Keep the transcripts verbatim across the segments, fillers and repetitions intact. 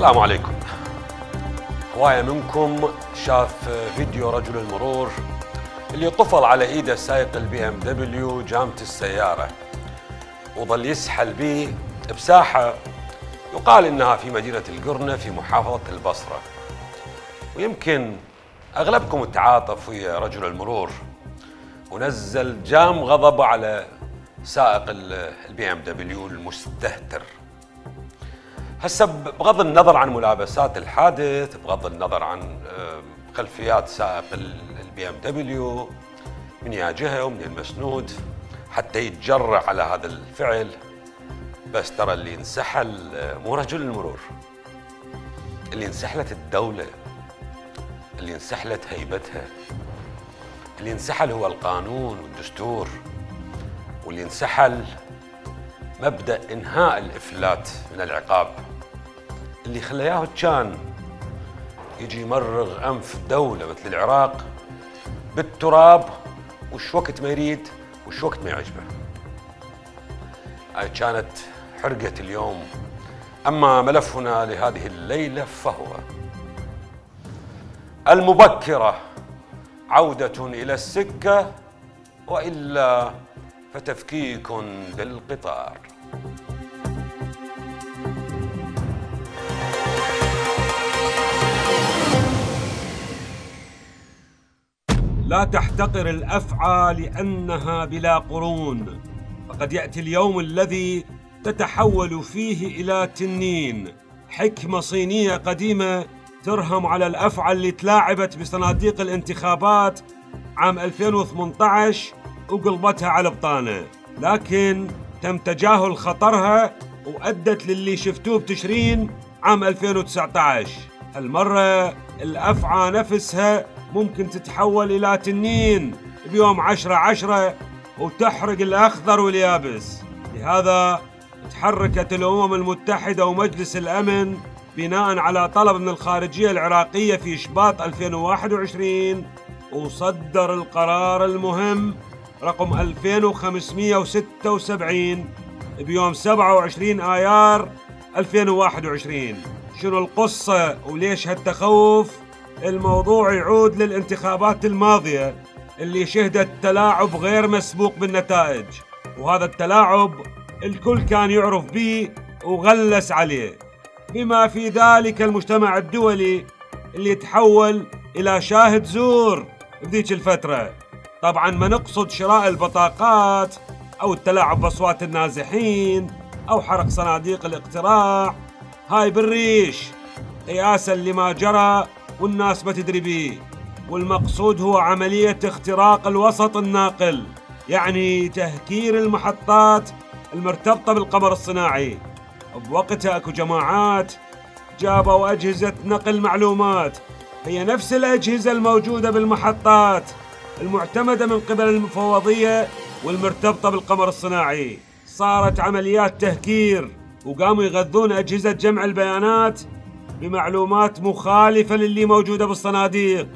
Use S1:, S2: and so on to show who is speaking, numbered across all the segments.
S1: السلام عليكم. هواية منكم شاف فيديو رجل المرور اللي طفل على ايده سايق البي ام دبليو جامة السيارة وظل يسحل به بساحة يقال انها في مدينة القرنة في محافظة البصرة. ويمكن اغلبكم تعاطف ويا رجل المرور ونزل جام غضبه على سائق البي ام دبليو المستهتر. هسه بغض النظر عن ملابسات الحادث، بغض النظر عن خلفيات سائق البي ام دبليو من يا جهه ومن المسنود حتى يتجرأ على هذا الفعل، بس ترى اللي انسحل مو رجل المرور، اللي انسحلت الدوله، اللي انسحلت هيبتها، اللي انسحل هو القانون والدستور، واللي انسحل مبدأ إنهاء الإفلات من العقاب اللي خلاه كان يجي يمرغ أنف دولة مثل العراق بالتراب وش وقت ما يريد وش وقت ما يعجبه. هاي كانت حرقة اليوم. أما ملفنا لهذه الليلة فهو المبكرة عودة إلى السكة وإلا فتفكيك بالقطار.
S2: لا تحتقر الأفعى لأنها بلا قرون، فقد يأتي اليوم الذي تتحول فيه إلى تنين. حكمة صينية قديمة ترهم على الأفعى اللي تلاعبت بصناديق الانتخابات عام ألفين وثمانية عشر وقلبتها على بطانة، لكن تم تجاهل خطرها وأدت للي شفتوه بتشرين عام ألفين وتسعة عشر. هالمرة الأفعى نفسها ممكن تتحول إلى تنين بيوم عشرة عشرة وتحرق الأخضر واليابس. لهذا تحركت الأمم المتحدة ومجلس الأمن بناء على طلب من الخارجية العراقية في شباط ألفين وواحد وعشرين، وصدر القرار المهم رقم ألفين وخمسمئة وستة وسبعين بيوم سبعة وعشرين آيار ألفين وواحد وعشرين. شنو القصة وليش هالتخوف؟ الموضوع يعود للانتخابات الماضية اللي شهدت تلاعب غير مسبوق بالنتائج، وهذا التلاعب الكل كان يعرف به وغلس عليه، بما في ذلك المجتمع الدولي اللي تحول إلى شاهد زور بذيك الفترة. طبعا ما نقصد شراء البطاقات أو التلاعب بأصوات النازحين أو حرق صناديق الاقتراع، هاي بالريش قياسا لما جرى والناس ما تدري بيه. والمقصود هو عملية اختراق الوسط الناقل، يعني تهكير المحطات المرتبطة بالقمر الصناعي. بوقتها اكو جماعات جابوا أجهزة نقل معلومات هي نفس الأجهزة الموجودة بالمحطات المعتمدة من قبل المفوضية والمرتبطة بالقمر الصناعي. صارت عمليات تهكير وقاموا يغذون أجهزة جمع البيانات بمعلومات مخالفة للي موجودة بالصناديق،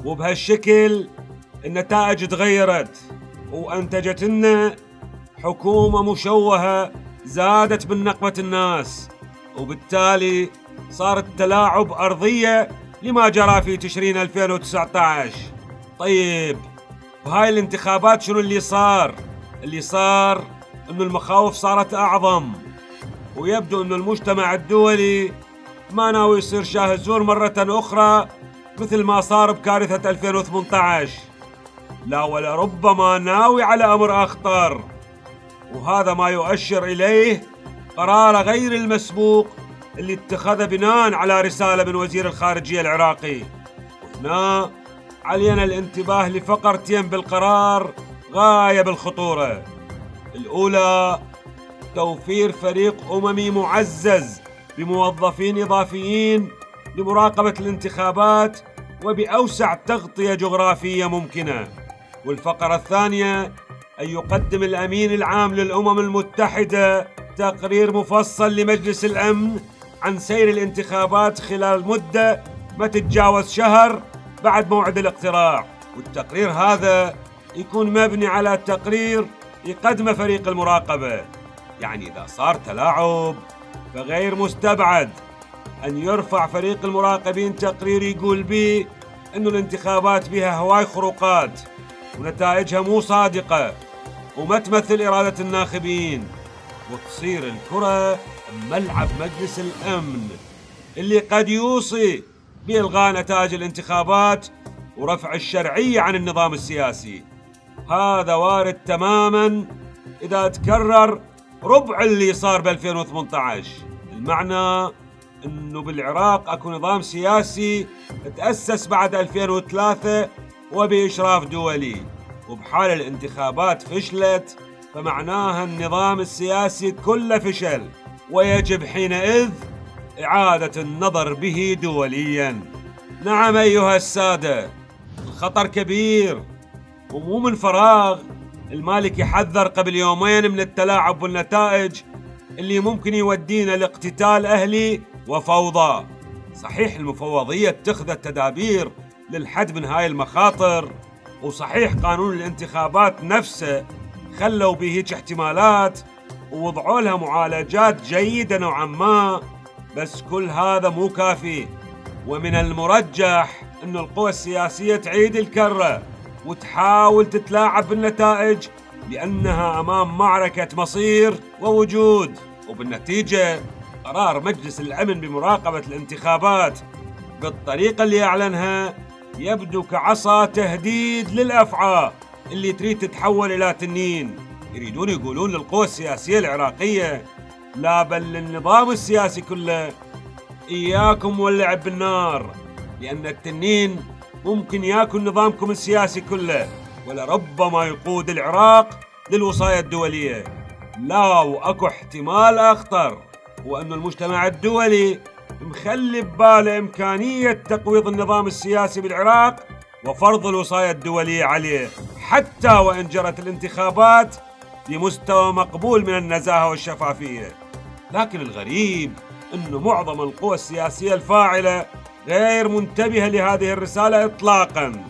S2: وبهالشكل النتائج تغيرت وأنتجت لنا حكومة مشوهة زادت من نقمة الناس، وبالتالي صار التلاعب أرضية لما جرى في تشرين ألفين وتسعة عشر. طيب بهاي الانتخابات شنو اللي صار؟ اللي صار انه المخاوف صارت اعظم، ويبدو انه المجتمع الدولي ما ناوي يصير شاهد زور مرة اخرى مثل ما صار بكارثة ألفين وثمانية عشر، لا ولربما ناوي على امر اخطر، وهذا ما يؤشر اليه قرار غير المسبوق اللي اتخذه بناء على رسالة من وزير الخارجية العراقي. وهنا علينا الانتباه لفقرتين بالقرار غاية بالخطورة. الأولى توفير فريق أممي معزز بموظفين إضافيين لمراقبة الانتخابات وبأوسع تغطية جغرافية ممكنة. والفقرة الثانية أن يقدم الأمين العام للأمم المتحدة تقرير مفصل لمجلس الأمن عن سير الانتخابات خلال مدة ما تتجاوز شهر بعد موعد الاقتراع، والتقرير هذا يكون مبني على تقرير يقدمه فريق المراقبة. يعني إذا صار تلاعب فغير مستبعد أن يرفع فريق المراقبين تقرير يقول بيه أنه الانتخابات بها هواي خروقات ونتائجها مو صادقة وما تمثل إرادة الناخبين، وتصير الكرة ملعب مجلس الأمن اللي قد يوصي بإلغاء نتائج الانتخابات ورفع الشرعية عن النظام السياسي. هذا وارد تماماً إذا تكرر ربع اللي صار ب ألفين وثمانية عشر. المعنى أنه بالعراق أكو نظام سياسي تأسس بعد ألفين وثلاثة وبإشراف دولي، وبحال الانتخابات فشلت فمعناها النظام السياسي كله فشل، ويجب حينئذ إعادة النظر به دولياً. نعم أيها السادة، الخطر كبير ومو من فراغ المالك يحذر قبل يومين من التلاعب بالنتائج اللي ممكن يودينا لاقتتال أهلي وفوضى. صحيح المفوضية اتخذت تدابير للحد من هاي المخاطر، وصحيح قانون الانتخابات نفسه خلوا به هيك احتمالات ووضعوا لها معالجات جيدة نوعا ما، بس كل هذا مو كافي. ومن المرجح أن القوى السياسية تعيد الكرة وتحاول تتلاعب بالنتائج لأنها أمام معركة مصير ووجود، وبالنتيجة قرار مجلس الأمن بمراقبة الانتخابات بالطريقة اللي أعلنها يبدو كعصا تهديد للأفعى اللي تريد تتحول إلى تنين. يريدون يقولون للقوى السياسية العراقية لا بل للنظام السياسي كله إياكم واللعب بالنار، لأن التنين ممكن ياكل نظامكم السياسي كله ولربما يقود العراق للوصاية الدولية. لا، وأكو احتمال أخطر، وأن المجتمع الدولي مخلي بباله إمكانية تقويض النظام السياسي بالعراق وفرض الوصاية الدولية عليه حتى وإن جرت الانتخابات بمستوى مقبول من النزاهة والشفافية. لكن الغريب أن معظم القوى السياسية الفاعلة غير منتبهة لهذه الرسالة إطلاقاً.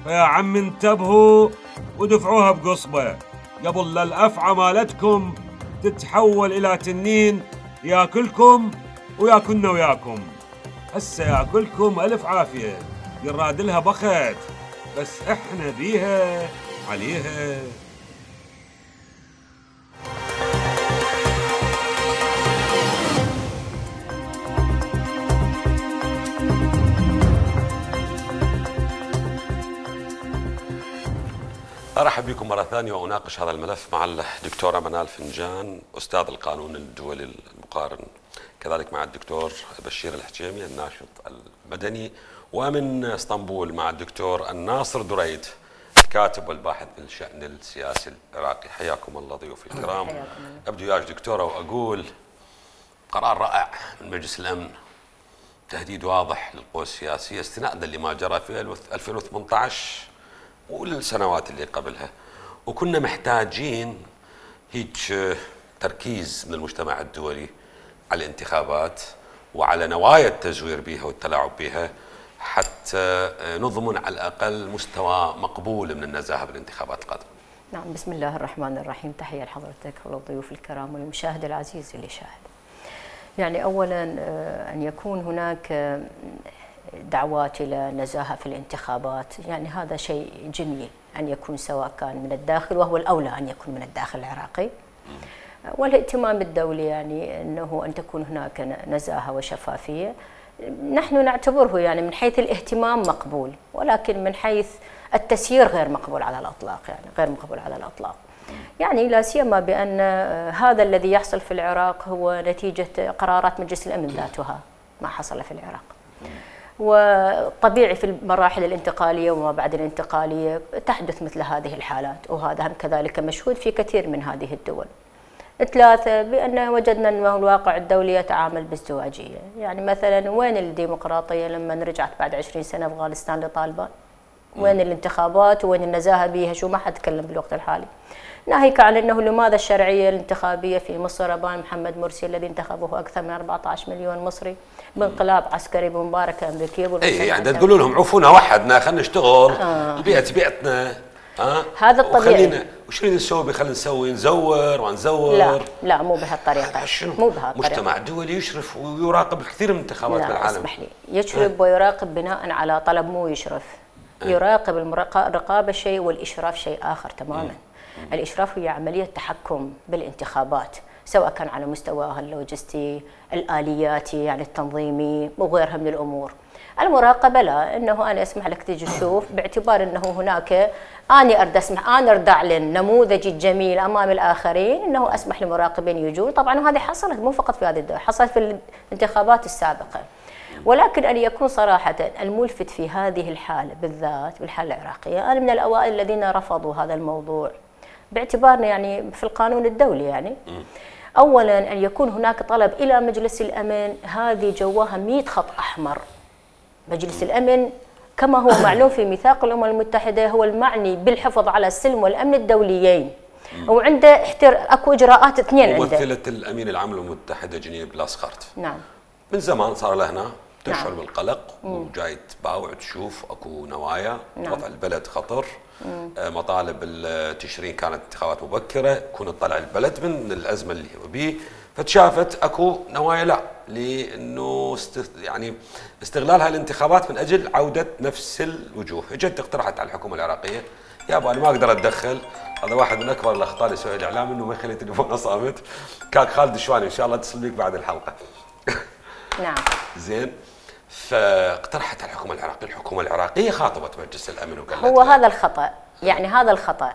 S2: فيا عم انتبهوا ودفعوها بقصبة قبل لا الأفعى مالتكم تتحول إلى تنين ياكلكم وياكلنا وياكم. هسه ياكلكم ألف عافية، يراد لها بخت، بس إحنا بيها عليها.
S1: أرحب بكم مرة ثانية وأناقش هذا الملف مع الدكتورة منال فنجان أستاذ القانون الدولي المقارن، كذلك مع الدكتور بشير الحجيمي الناشط المدني، ومن اسطنبول مع الدكتور الناصر دريد الكاتب والباحث بالشأن السياسي العراقي. حياكم الله ضيوفي الكرام. أبدو يا دكتورة وأقول قرار رائع من مجلس الأمن، تهديد واضح للقوى السياسية استنادا لما جرى في ألفين وثمانية عشر والسنوات اللي قبلها، وكنا محتاجين هيك تركيز من المجتمع الدولي على الانتخابات وعلى نوايا التزوير بها والتلاعب بها حتى نضمن على الأقل مستوى مقبول من النزاهة بالانتخابات القادمة.
S3: نعم، بسم الله الرحمن الرحيم. تحية لحضرتك وللضيوف الكرام والمشاهد العزيز اللي شاهد. يعني أولا أن يكون هناك دعوات إلى نزاهة في الانتخابات، يعني هذا شيء جميل أن يكون سواء كان من الداخل، وهو الأولى أن يكون من الداخل العراقي، والاهتمام الدولي يعني أنه أن تكون هناك نزاهة وشفافية. نحن نعتبره يعني من حيث الاهتمام مقبول، ولكن من حيث التسيير غير مقبول على الإطلاق، يعني غير مقبول على الإطلاق. يعني لا سيما بأن هذا الذي يحصل في العراق هو نتيجة قرارات مجلس الأمن ذاتها، ما حصل في العراق. وطبيعي في المراحل الانتقالية وما بعد الانتقالية تحدث مثل هذه الحالات، وهذا هم كذلك مشهود في كثير من هذه الدول. ثلاثة، بأن وجدنا أنه الواقع الدولي يتعامل بازدواجية. يعني مثلا وين الديمقراطية لما رجعت بعد عشرين سنة أفغانستان لطالبان؟ وين الانتخابات وين النزاهة بيها؟ شو ما حد تكلم بالوقت الحالي. ناهيك عن أنه لماذا الشرعية الانتخابية في مصر أبان محمد مرسي الذي انتخبه أكثر من أربعة عشر مليون مصري بانقلاب عسكري بمباركة أمريكية.
S1: إيه يعني تقولوا لهم عفونا وحدنا خلينا نشتغل آه. البيئة بيئتنا آه.
S3: هذا الطبيعي.
S1: خلينا وش نريد نسوي؟ خلينا نسوي نزور ونزور.
S3: لا لا مو بهالطريقه. مو بهالطريقه.
S1: مجتمع دولي يشرف ويراقب الكثير من الانتخابات بالعالم.
S3: لا اسمح لي، يشرف آه. ويراقب بناء على طلب، مو يشرف. آه. يراقب. الرقابه شيء والاشراف شيء اخر تماما. مم. الاشراف هي عمليه تحكم بالانتخابات، سواء كان على مستواها اللوجستي، الالياتي يعني التنظيمي وغيرها من الامور. المراقبه لا، انه انا اسمح لك تجي تشوف، باعتبار انه هناك اني ارد اسمح انا ارد اعلن نموذجي الجميل امام الاخرين، انه اسمح لمراقبين يجون. طبعا وهذه حصلت مو فقط في هذه الدوله، حصلت في الانتخابات السابقه. ولكن ان يكون صراحه الملفت في هذه الحاله بالذات بالحاله العراقيه، انا من الاوائل الذين رفضوا هذا الموضوع باعتبارنا يعني في القانون الدولي يعني. اولا ان يكون هناك طلب الى مجلس الامن، هذه جواها مئة خط احمر. مجلس الأمن كما هو معلوم في ميثاق الأمم المتحدة هو المعني بالحفاظ على السلم والأمن الدوليين، وعنده احتر اكو إجراءات اثنين عنده.
S1: ممثلة الأمين العام للأمم المتحدة جنين بلاسخارت.
S3: نعم.
S1: من زمان صار لها هنا تشعر
S3: نعم.
S1: بالقلق وجاي تباوع تشوف اكو نوايا. نعم. وضع البلد خطر. مم. مطالب التشرين كانت انتخابات مبكرة، يكون تطلع البلد من الأزمة اللي هو بيه، فتشافت اكو نوايا لا لانه است... يعني استغلالها الانتخابات من اجل عوده نفس الوجوه. اجت اقترحت على الحكومه العراقيه يابا انا ما اقدر اتدخل، هذا واحد من اكبر الاخطاء اللي سويها الاعلام انه ما يخلي تليفونه صامت. كان خالد الشواني ان شاء الله اتصل بيك بعد الحلقه.
S3: نعم.
S1: زين. فاقترحت على الحكومه العراقيه، الحكومه العراقيه خاطبت مجلس الامن وقالت
S3: هو هذا الخطا، يعني هذا الخطا.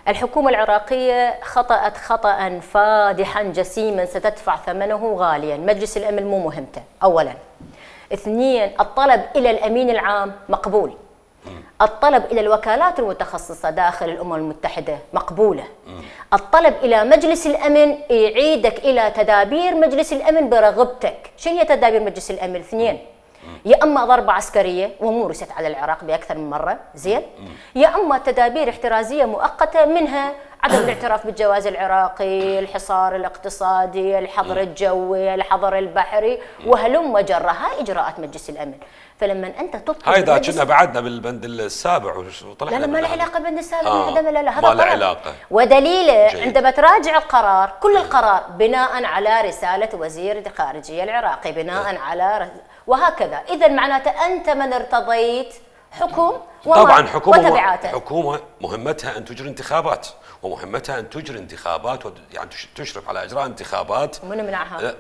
S3: الحكومة العراقية خطأت خطأ فادحا جسيما ستدفع ثمنه غاليا. مجلس الأمن مو مهمته أولا. اثنين، الطلب إلى الأمين العام مقبول. الطلب إلى الوكالات المتخصصة داخل الأمم المتحدة مقبولة. الطلب إلى مجلس الأمن يعيدك إلى تدابير مجلس الأمن برغبتك. شنو هي تدابير مجلس الأمن؟ اثنين، يا اما ضربه عسكريه ومورست على العراق باكثر من مره، زين؟ يا اما تدابير احترازيه مؤقته، منها عدم الاعتراف بالجواز العراقي، الحصار الاقتصادي، الحظر الجوي، الحظر البحري، وهلم جرى. هاي اجراءات مجلس الامن. فلما انت تطلب
S1: هاي اذا كنا بعدنا بالبند السابع وطلعنا
S3: لا لا ما له علاقه بالبند السابع.
S1: آه.
S3: لا لا لا هذا
S1: ما له علاقه.
S3: ودليله جيد. عندما تراجع القرار، كل القرار بناء على رساله وزير الخارجيه العراقي، بناء آه. على رس... وهكذا. اذا معناته انت من ارتضيت حكم
S1: طبعا حكومه
S3: وتبعاته.
S1: حكومه مهمتها ان تجري انتخابات، ومهمتها ان تجري انتخابات يعني تشرف على اجراء انتخابات.
S3: ومن منعها؟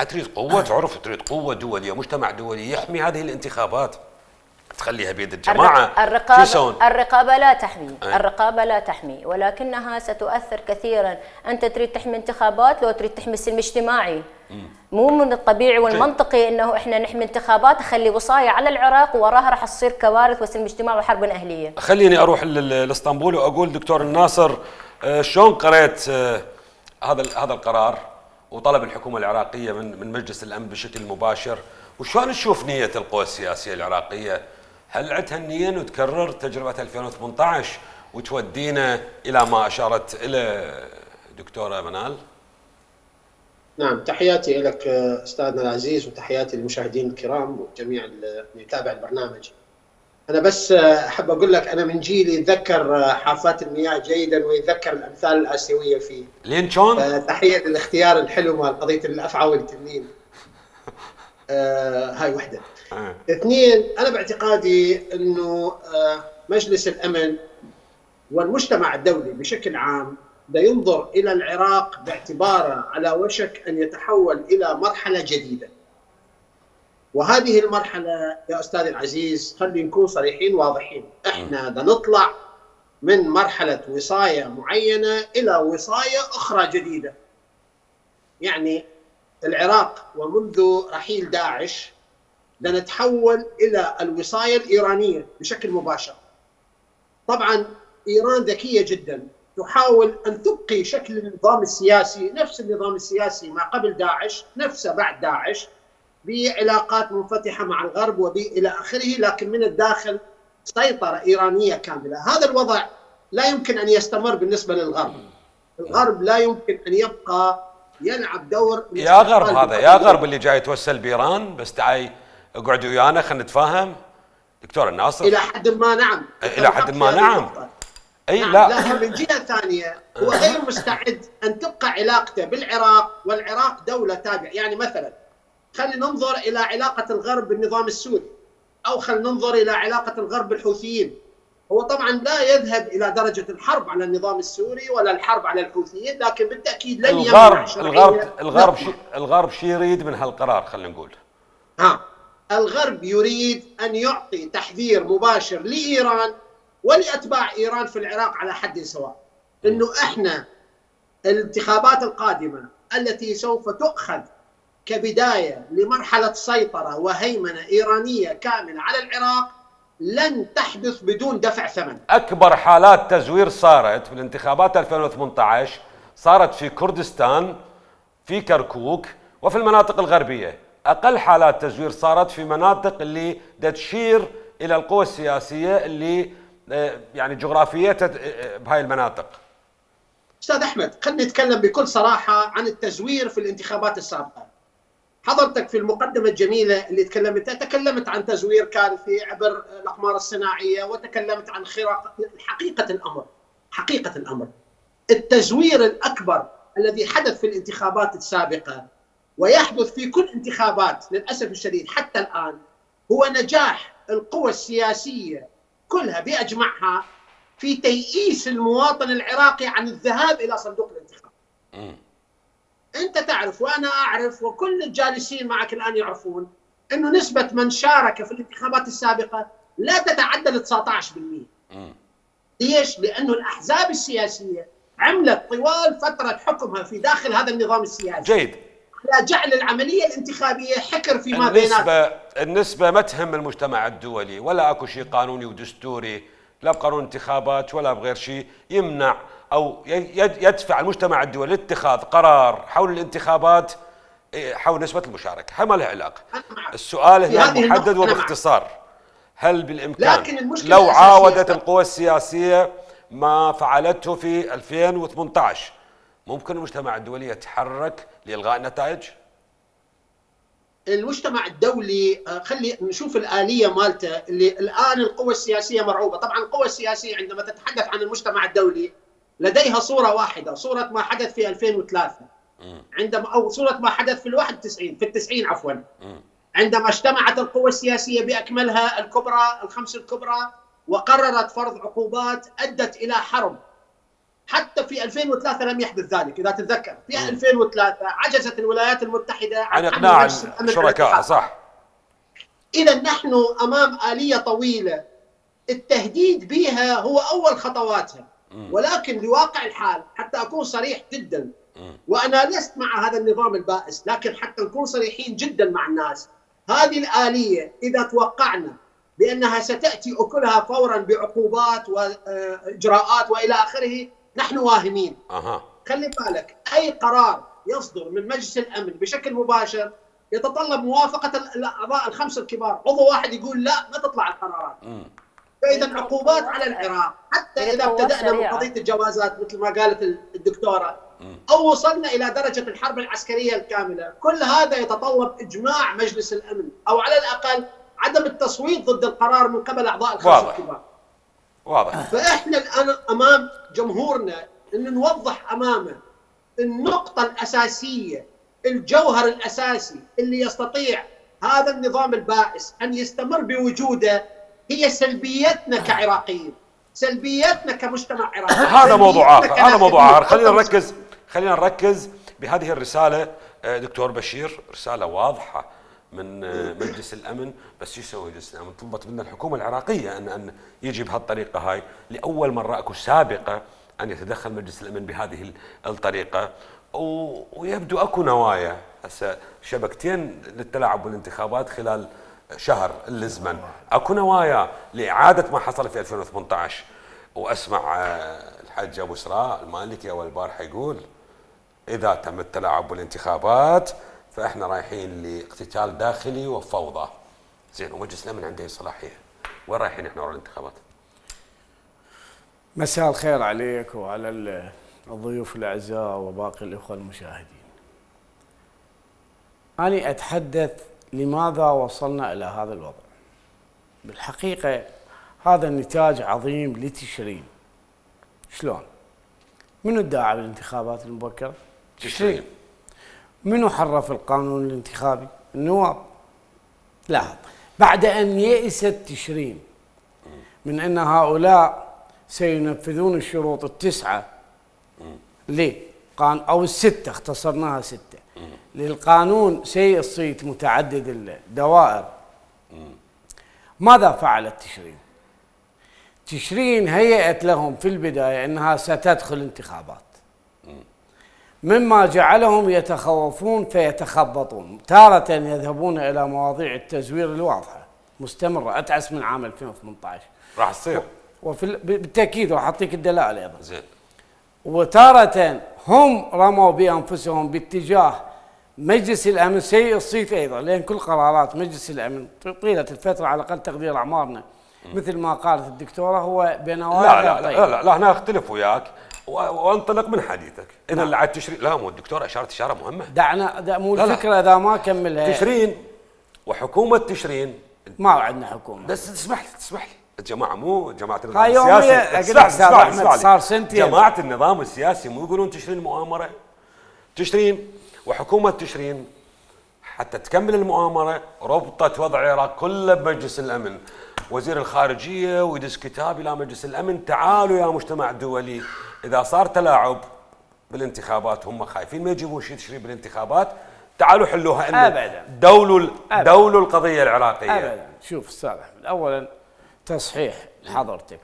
S1: تريد قوة عرف، تريد قوة دولية، مجتمع دولي يحمي هذه الانتخابات، تخليها بيد الجماعة.
S3: الرقابة الرقابة لا تحمي، أه؟ الرقابة لا تحمي، ولكنها ستؤثر كثيرا. أنت تريد تحمي انتخابات لو تريد تحمي السلم الاجتماعي. مو من الطبيعي والمنطقي انه احنا نحمي انتخابات نخلي وصاية على العراق وراها راح تصير كوارث وسلم اجتماعي وحرب اهلية.
S1: خليني اروح لاسطنبول واقول دكتور الناصر، شلون قريت هذا هذا القرار وطلب الحكومة العراقية من من مجلس الأمن بشكل مباشر، وشلون تشوف نية القوى السياسية العراقية؟ هل عندها النية أنه تكرر تجربة ألفين وثمانية عشر وتودينا إلى ما أشارت إلى دكتورة منال؟
S4: نعم، تحياتي لك أستاذنا العزيز وتحياتي للمشاهدين الكرام وجميع اللي يتابع البرنامج. أنا بس أحب أقول لك أنا من جيل يتذكر حافات المياه جيدا ويتذكر الأمثال الآسيوية فيه.
S1: لين شلون؟
S4: تحية للاختيار الحلو مال قضية الأفعى والتنين. آه هاي وحدة. آه. اثنين، أنا باعتقادي أنه آه مجلس الأمن والمجتمع الدولي بشكل عام دا ينظر إلى العراق باعتباره على وشك أن يتحول إلى مرحلة جديدة. وهذه المرحلة يا أستاذي العزيز خلي نكون صريحين واضحين، احنا دا نطلع من مرحلة وصاية معينة إلى وصاية أخرى جديدة. يعني العراق ومنذ رحيل داعش دا نتحول إلى الوصاية الإيرانية بشكل مباشر. طبعا إيران ذكية جدا، تحاول أن تبقي شكل النظام السياسي نفس النظام السياسي ما قبل داعش، نفسه بعد داعش، بعلاقات منفتحة مع الغرب وإلى آخره، لكن من الداخل سيطرة إيرانية كاملة. هذا الوضع لا يمكن أن يستمر بالنسبة للغرب. الغرب لا يمكن أن يبقى يلعب دور
S1: يا غرب. هذا يا غرب اللي جاي توسل بإيران، بس تعي اقعدوا ويانا خلينا نتفاهم. دكتور الناصر،
S4: إلى حد ما نعم،
S1: إلى حد ما نعم. اي
S4: نعم
S1: لا
S4: لها من جهه ثانيه هو غير مستعد ان تبقى علاقته بالعراق، والعراق دوله تابعه. يعني مثلا خلينا ننظر الى علاقه الغرب بالنظام السوري، او خلينا ننظر الى علاقه الغرب بالحوثيين. هو طبعا لا يذهب الى درجه الحرب على النظام السوري ولا الحرب على الحوثيين، لكن بالتاكيد لن يمنع
S1: الغرب الغرب الغرب شي الغرب شي يريد من هالقرار؟ خلينا نقول
S4: ها الغرب يريد ان يعطي تحذير مباشر لايران ولاتباع ايران في العراق على حد سواء، انه احنا الانتخابات القادمه التي سوف تؤخذ كبدايه لمرحله سيطره وهيمنه ايرانيه كامله على العراق لن تحدث بدون دفع ثمن.
S1: اكبر حالات تزوير صارت بالانتخابات ألفين وثمانية عشر صارت في كردستان، في كركوك، وفي المناطق الغربيه. اقل حالات تزوير صارت في مناطق اللي تشير الى القوى السياسيه اللي يعني جغرافيتها بهاي المناطق.
S4: استاذ احمد، خلينا نتكلم بكل صراحه عن التزوير في الانتخابات السابقه. حضرتك في المقدمه الجميله اللي تكلمتها تكلمت عن تزوير كارثي عبر الاقمار الصناعيه، وتكلمت عن حقيقه الامر. حقيقه الامر التزوير الاكبر الذي حدث في الانتخابات السابقه ويحدث في كل انتخابات للاسف الشديد حتى الان هو نجاح القوى السياسيه كلها باجمعها في تيئيس المواطن العراقي عن الذهاب الى صندوق الانتخاب. م. انت تعرف وانا اعرف وكل الجالسين معك الان يعرفون انه نسبه من شارك في الانتخابات السابقه لا تتعدى ال تسعة عشر بالمئة. ليش؟ لانه الاحزاب السياسيه عملت طوال فتره حكمها في داخل هذا النظام السياسي
S1: جيد
S4: على جعل العمليه الانتخابيه حكر فيما
S1: بيناتهم.
S4: النسبه
S1: النسبه ما تهم المجتمع الدولي، ولا اكو شيء قانوني ودستوري، لا بقانون انتخابات ولا بغير شيء يمنع او يدفع المجتمع الدولي لاتخاذ قرار حول الانتخابات حول نسبه المشاركه. ما لها علاقه. السؤال هنا محدد وباختصار، هل بالامكان لو عاودت القوى السياسيه ما فعلته في ألفين وثمانية عشر ممكن المجتمع الدولي يتحرك لإلغاء النتائج؟
S4: المجتمع الدولي خلي نشوف الآلية مالته اللي الآن القوى السياسية مرعوبة. طبعا القوى السياسية عندما تتحدث عن المجتمع الدولي لديها صورة واحدة، صورة ما حدث في ألفين وثلاثة عندما أو صورة ما حدث في الواحد وتسعين في التسعين عفوا عندما اجتمعت القوى السياسية بأكملها الكبرى الخمس الكبرى وقررت فرض عقوبات أدت إلى حرب. حتى في ألفين وثلاثة لم يحدث ذلك. إذا تتذكر في م. ألفين وثلاثة عجزت الولايات المتحدة
S1: عن إقناع الشركاء. صح.
S4: إذا نحن أمام آلية طويلة التهديد بها هو أول خطواتها، م. ولكن لواقع الحال حتى أكون صريح جدا، م. وأنا لست مع هذا النظام البائس، لكن حتى نكون صريحين جدا مع الناس، هذه الآلية إذا توقعنا بأنها ستأتي أكلها فورا بعقوبات وإجراءات وإلى آخره نحن واهمين.
S1: أها.
S4: خلي بالك أي قرار يصدر من مجلس الأمن بشكل مباشر يتطلب موافقة الأعضاء الخمس الكبار، عضو واحد يقول لا ما تطلع القرارات. م. فإذا عقوبات على العراق حتى إذا ابتدأنا من قضية الجوازات مثل ما قالت الدكتورة م. أو وصلنا إلى درجة الحرب العسكرية الكاملة، كل هذا يتطلب إجماع مجلس الأمن أو على الأقل عدم التصويت ضد القرار من قبل أعضاء الخمس الكبار.
S1: واضح.
S4: فإحنا الآن أمام جمهورنا أن نوضح أمامه النقطة الأساسية، الجوهر الأساسي اللي يستطيع هذا النظام البائس أن يستمر بوجوده هي سلبيتنا كعراقيين، سلبيتنا كمجتمع عراقي.
S1: هذا موضوع آخر، هذا موضوع آخر. خلينا نركز خلينا نركز بهذه الرسالة دكتور بشير، رسالة واضحة من مجلس الأمن. بس شو يسوي مجلس الأمن؟ طلبت منا الحكومة العراقية أن أن يجي بهالطريقة هاي. لأول مرة أكو سابقة أن يتدخل مجلس الأمن بهذه الطريقة، ويبدو أكو نوايا هسه شبكتين للتلاعب بالانتخابات خلال شهر الزمن، أكو نوايا لإعادة ما حصل في ألفين وثمانية عشر. وأسمع الحاج أبو سراء المالكي أول البارحة يقول إذا تم التلاعب بالانتخابات فإحنا رايحين لاقتتال داخلي وفوضى. زين، ومجلس الأمن عنده صلاحية، وين رايحين إحنا ورا الانتخابات؟
S5: مساء الخير عليك وعلى الضيوف الأعزاء وباقي الإخوة المشاهدين. أنا أتحدث لماذا وصلنا إلى هذا الوضع. بالحقيقة هذا النتاج عظيم لتشرين، شلون؟ منو ادعى بالانتخابات المبكره؟
S1: تشرين.
S5: منو حرف القانون الانتخابي؟ النواب. لاحظ، بعد ان يئست تشرين من ان هؤلاء سينفذون الشروط التسعه ليه؟ او السته، اختصرناها سته للقانون سيء الصيت متعدد الدوائر. ماذا فعلت تشرين؟ تشرين هيأت لهم في البدايه انها ستدخل انتخابات، مما جعلهم يتخوفون فيتخبطون، تارة يذهبون الى مواضيع التزوير الواضحه مستمره اتعس من عام ألفين وثمانية عشر
S1: راح تصير،
S5: وفي بالتاكيد راح اعطيك الدلائل ايضا.
S1: زين.
S5: وتارة هم رموا بانفسهم باتجاه مجلس الامن سيء الصيت ايضا، لان كل قرارات مجلس الامن طيله الفتره على اقل تقدير اعمارنا مثل ما قالت الدكتوره هو بنوايا.
S1: لا لا لا, لا لا لا هنا اختلف وياك وانطلق من حديثك. اذا اللي على التشرين، لا مو الدكتوره اشارت اشاره مهمه.
S5: دعنا دا مو الفكره اذا ما كملها.
S1: تشرين وحكومه تشرين
S5: ما عندنا حكومه.
S1: بس تسمح لي تسمح لي الجماعه مو جماعه النظام
S5: هاي
S1: السياسي.
S5: اسمع اسمع احمد صار سنتين.
S1: جماعه النظام السياسي مو يقولون تشرين مؤامره؟ تشرين وحكومه تشرين حتى تكمل المؤامره ربطت وضع العراق كله بمجلس الامن. وزير الخارجيه ويدز كتاب الى مجلس الامن، تعالوا يا مجتمع دولي اذا صار تلاعب بالانتخابات، هم خايفين ما يجيبون شيء تشرين بالانتخابات، تعالوا حلوها. انه
S5: ابدا
S1: دولوا دولوا القضيه العراقيه.
S5: ابدا. شوف استاذ احمد، اولا تصحيح لحضرتك،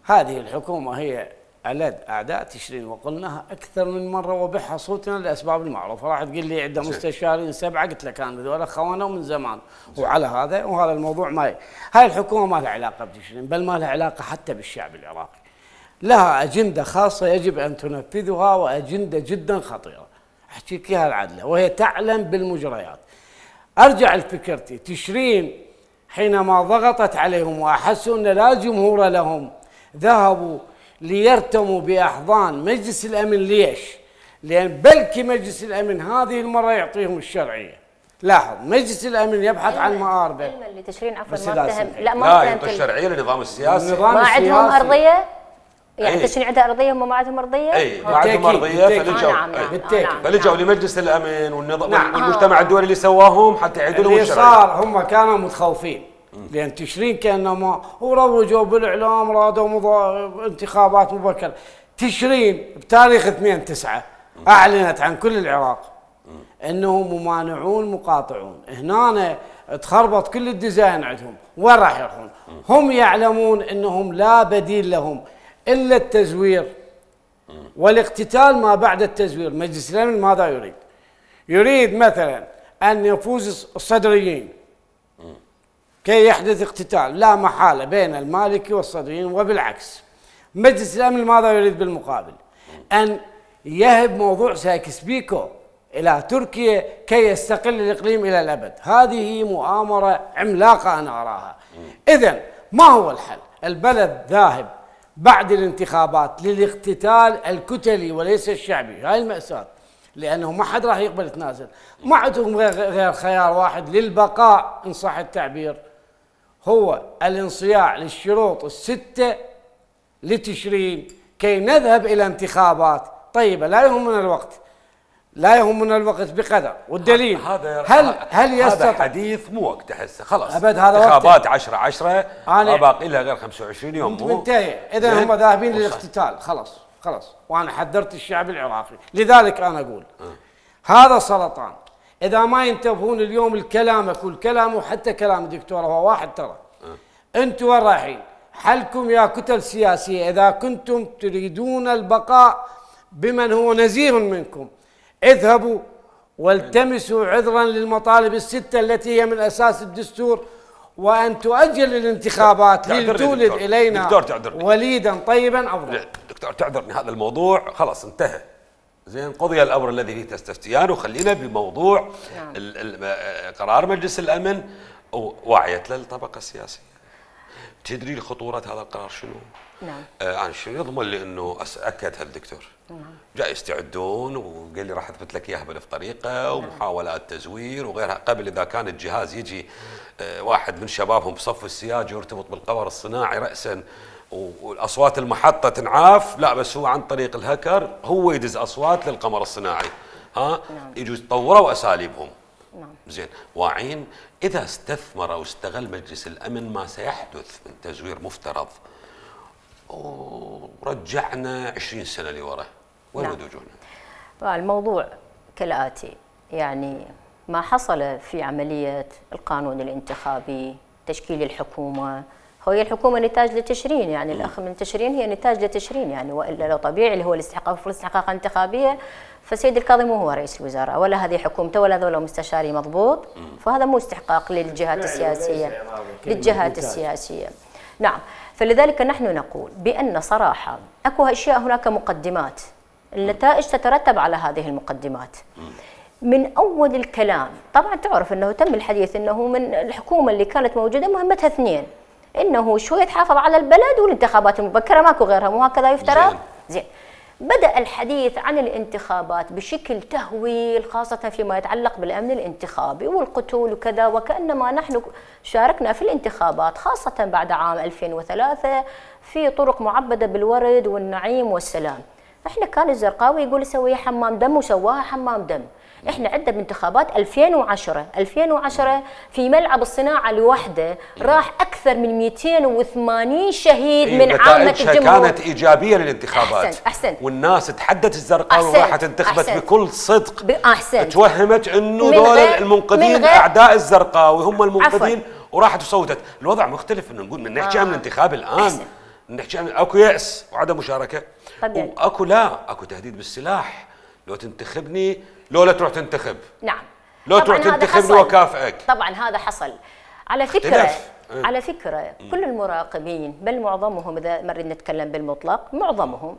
S5: هذه الحكومه هي ألد أعداء تشرين، وقلناها أكثر من مرة وبحها صوتنا للأسباب المعروفة. راح تقول لي عندنا مستشارين سبعة، قلت لك أنا ذولا خوانوا من زمان، وعلى هذا وهذا الموضوع ما هاي الحكومة ما لها علاقة بتشرين، بل ما لها علاقة حتى بالشعب العراقي. لها أجندة خاصة يجب أن تنفذها، وأجندة جدا خطيرة أحكيك إياها العدلة، وهي تعلم بالمجريات. أرجع لفكرتي، تشرين حينما ضغطت عليهم وأحسوا أن لا جمهور لهم ذهبوا ليرتموا بأحضان مجلس الأمن. ليش؟ لأن بلكي مجلس الأمن هذه المرة يعطيهم الشرعية. لاحظ، مجلس الأمن يبحث عن مآربه.
S3: علما اللي تشرين عفوا
S5: لا
S3: ما اتهم،
S5: لا
S3: لا ما
S1: لا
S3: اتهم
S1: يعطي الشرعيه للنظام السياسي.
S3: ما عندهم ارضيه، يعني
S1: أي.
S3: تشرين عندها ارضيه هم ما عندهم ارضيه؟
S1: اي ما عندهم ارضيه، فلجوا
S3: نعم نعم
S5: بالتأكيد.
S3: نعم
S1: فلجوا
S3: نعم.
S1: لمجلس الامن والنظام
S5: نعم.
S1: والمجتمع الدولي اللي سواهم حتى يعيدوا لهم
S5: اللي
S1: الشرعيه.
S5: صار هم كانوا متخوفين، لأن تشرين كأنما وروجوا بالإعلام رادوا مضا... انتخابات مبكرة. تشرين بتاريخ اثنين تسعة أعلنت عن كل العراق أنهم ممانعون مقاطعون. هنا تخربط كل الديزاين عندهم. وين راح يروحون؟ هم يعلمون أنهم لا بديل لهم إلا التزوير والاقتتال ما بعد التزوير. مجلس الأمن ماذا يريد؟ يريد مثلا أن يفوز الصدريين كي يحدث اقتتال لا محالة بين المالكي والصدريين، وبالعكس. مجلس الأمن ماذا يريد بالمقابل؟ أن يهب موضوع سايكس بيكو إلى تركيا كي يستقل الإقليم إلى الأبد. هذه مؤامرة عملاقة أنا أراها. إذن ما هو الحل؟ البلد ذاهب بعد الانتخابات للاقتتال الكتلي وليس الشعبي. هاي المأساة، لأنه ما حد راح يقبل يتنازل. ما عندهم غير خيار واحد للبقاء إن صح التعبير، هو الانصياع للشروط الستة لتشرين كي نذهب إلى انتخابات طيبة. لا يهمنا الوقت، لا يهمنا الوقت بقدر. والدليل
S1: هذا
S5: هل هل يستطيع؟
S1: هذا حديث مو وقته هسه، خلاص
S5: أبد هذا
S1: انتخابات عشرة عشرة ما
S5: أنا-
S1: باقي لها غير خمسة وعشرين يوم. مو
S5: منتهي. إذا هم ذاهبين للاقتتال، خلاص خلاص. وأنا حذرت الشعب العراقي، لذلك أنا أقول أه. هذا سرطان. إذا ما ينتبهون اليوم الكلامك والكلام وحتى كلام الدكتور هو واحد ترى. أه. أنتم وين رايحين؟ حلكم يا كتل سياسية إذا كنتم تريدون البقاء بمن هو نزيه منكم، اذهبوا والتمسوا عذرا للمطالب الستة التي هي من أساس الدستور، وأن تؤجل الانتخابات لتولد إلينا
S1: دكتور تعذرني.
S5: وليدا طيبا أفضل.
S1: دكتور تعذرني، هذا الموضوع خلاص انتهى. زين، قضي الأمر الذي فيه تستفتيان، وخلينا بموضوع
S3: نعم.
S1: ال ال قرار مجلس الأمن ووعيت للطبقة السياسية. تدري خطورة هذا القرار شنو؟
S3: نعم.
S1: آه أنا شنو يضمن لي أنه أكدها الدكتور. نعم. جاي يستعدون وقال لي راح أثبت لك إياها بألف طريقة، ومحاولات تزوير وغيرها. قبل إذا كان الجهاز يجي آه واحد من شبابهم بصف السياج يرتبط بالقمر الصناعي رأسا والاصوات المحطه تنعاف، لا بس هو عن طريق الهكر هو يدز اصوات للقمر الصناعي. ها نعم. يجوز طوروا اساليبهم. نعم. زين، واعين اذا استثمر او استغل مجلس الامن ما سيحدث من تزوير مفترض ورجعنا عشرين سنه لورا، وين
S3: نعم.
S1: وجهنا؟
S3: الموضوع كالاتي، يعني ما حصل في عمليه القانون الانتخابي، تشكيل الحكومه، هي الحكومه نتاج لتشرين، يعني الاخ من تشرين هي نتاج لتشرين، يعني والا لو طبيعي اللي هو الاستحقاق في الاستحقاقات الانتخابيه فسيد الكاظمي مو هو رئيس الوزراء ولا هذه حكومته ولا هذول مستشاري مضبوط، فهذا مو استحقاق للجهات السياسيه للجهات السياسيه. نعم، فلذلك نحن نقول بان صراحه اكو اشياء، هناك مقدمات، النتائج تترتب على هذه المقدمات. من اول الكلام طبعا تعرف انه تم الحديث انه من الحكومه اللي كانت موجوده مهمتها اثنين، انه شويه تحافظ على البلد والانتخابات المبكره، ماكو غيرها، مو هكذا يفترض؟ زين. بدأ الحديث عن الانتخابات بشكل تهويل، خاصة فيما يتعلق بالأمن الانتخابي والقتول وكذا، وكأنما نحن شاركنا في الانتخابات خاصة بعد عام ألفين وثلاثة في طرق معبدة بالورد والنعيم والسلام. احنا كان الزرقاوي يقول سويها حمام دم وسواها حمام دم. احنا عندنا بانتخابات ألفين وعشرة ألفين وعشرة في ملعب الصناعه لوحده راح اكثر من مئتين وثمانين شهيد
S1: إيه
S3: من عامه الجمهور.
S1: كانت ايجابيه للانتخابات.
S3: احسن احسن
S1: والناس تحدت الزرقاوي وراحت انتخبت بكل صدق.
S3: احسن.
S1: توهمت انه دول المنقذين اعداء الزرقاوي هم المنقذين وراحت وصوتت. الوضع مختلف، انه نقول من نحكي آه. عن الانتخاب الان أحسن. نحكي عن اكو يأس وعدم مشاركه، طبيعي. واكو لا اكو تهديد بالسلاح، لو تنتخبني لو لا تروح تنتخب.
S3: نعم.
S1: لو تروح تنتخبني وكافئك.
S3: طبعا هذا حصل. على فكره اختلاف. على فكره كل المراقبين بل معظمهم، اذا مريت نتكلم بالمطلق معظمهم،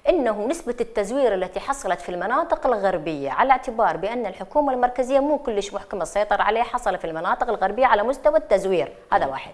S3: انه نسبه التزوير التي حصلت في المناطق الغربيه، على اعتبار بان الحكومه المركزيه مو كلش محكمه السيطره عليها، حصل في المناطق الغربيه على مستوى التزوير، هذا واحد.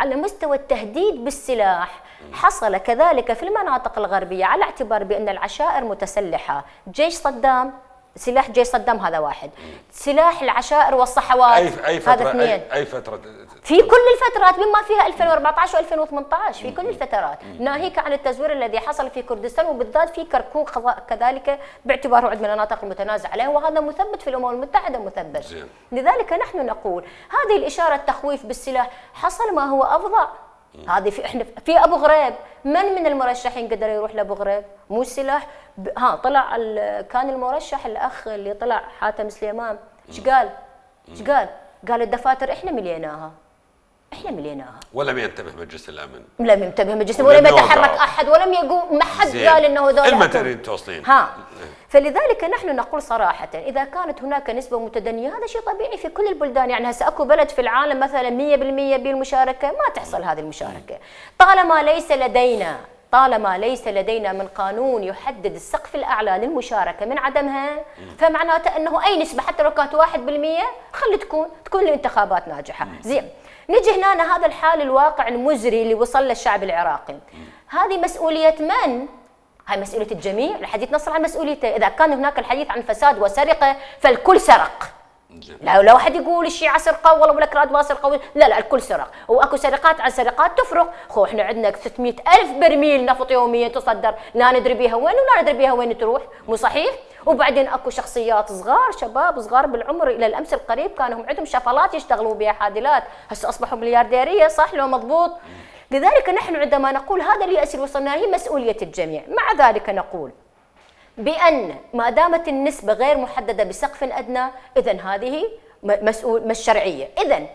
S3: على مستوى التهديد بالسلاح حصل كذلك في المناطق الغربيه، على اعتبار بان العشائر متسلحه، جيش صدام، سلاح جيش صدام هذا واحد، سلاح العشائر والصحوات
S1: أي أي فترة
S3: هذا اثنين.
S1: أي, أي فترة
S3: في كل الفترات بما فيها ألفين وأربعة عشر وألفين وثمانية عشر، في كل الفترات، ناهيك عن التزوير الذي حصل في كردستان وبالذات في كركوك كذلك، باعتباره عند من المناطق المتنازع عليه، وهذا مثبت في الأمم المتحدة مثبت. زين. لذلك نحن نقول هذه الإشارة التخويف بالسلاح حصل ما هو أفظع. هذه في احنا في ابو غريب، من من المرشحين قدر يروح لابو غريب؟ مو السلاح ها طلع كان المرشح الاخ اللي طلع حاتم سليمان، ايش قال؟ ايش قال؟ قال الدفاتر احنا مليناها. احنا مليناها.
S1: ولم ينتبه مجلس الامن.
S3: لم ينتبه مجلس الامن ولم يتحرك احد ولم يقوم، ما حد قال انه هذول
S1: المترين توصلين.
S3: ها فلذلك نحن نقول صراحة إذا كانت هناك نسبة متدنية هذا شيء طبيعي في كل البلدان، يعني هسه اكو بلد في العالم مثلا مئة بالمئة بالمشاركة ما تحصل هذه المشاركة، طالما ليس لدينا طالما ليس لدينا من قانون يحدد السقف الأعلى للمشاركة من عدمها، فمعناته أنه أي نسبة حتى لو كانت واحد بالمئة خلي تكون تكون الانتخابات ناجحة. زين، نجي هنا هذا الحال الواقع المزري اللي وصل للشعب العراقي، هذه مسؤولية من؟ هاي مسؤولية الجميع، الحديث نص عن مسؤوليته، إذا كان هناك الحديث عن فساد وسرقة فالكل سرق. لا لو واحد يقول الشيعة سرقوا والله ولا كراد ما سرقوا، لا لا الكل سرق، واكو سرقات عن سرقات تفرق، خو احنا عندنا ستمئة ألف برميل نفط يوميا تصدر، لا ندري بيها وين ولا ندري بيها وين تروح، مو صحيح؟ وبعدين اكو شخصيات صغار، شباب صغار بالعمر الى الامس القريب كانوا هم عندهم شفلات يشتغلوا بها حادلات، هسه اصبحوا مليارديريه، صح لو مضبوط؟ لذلك نحن عندما نقول هذا اليأس اللي وصلنا هي مسؤولية الجميع، مع ذلك نقول بأن ما دامت النسبة غير محددة بسقف أدنى إذا هذه مسؤول مش شرعية. إذا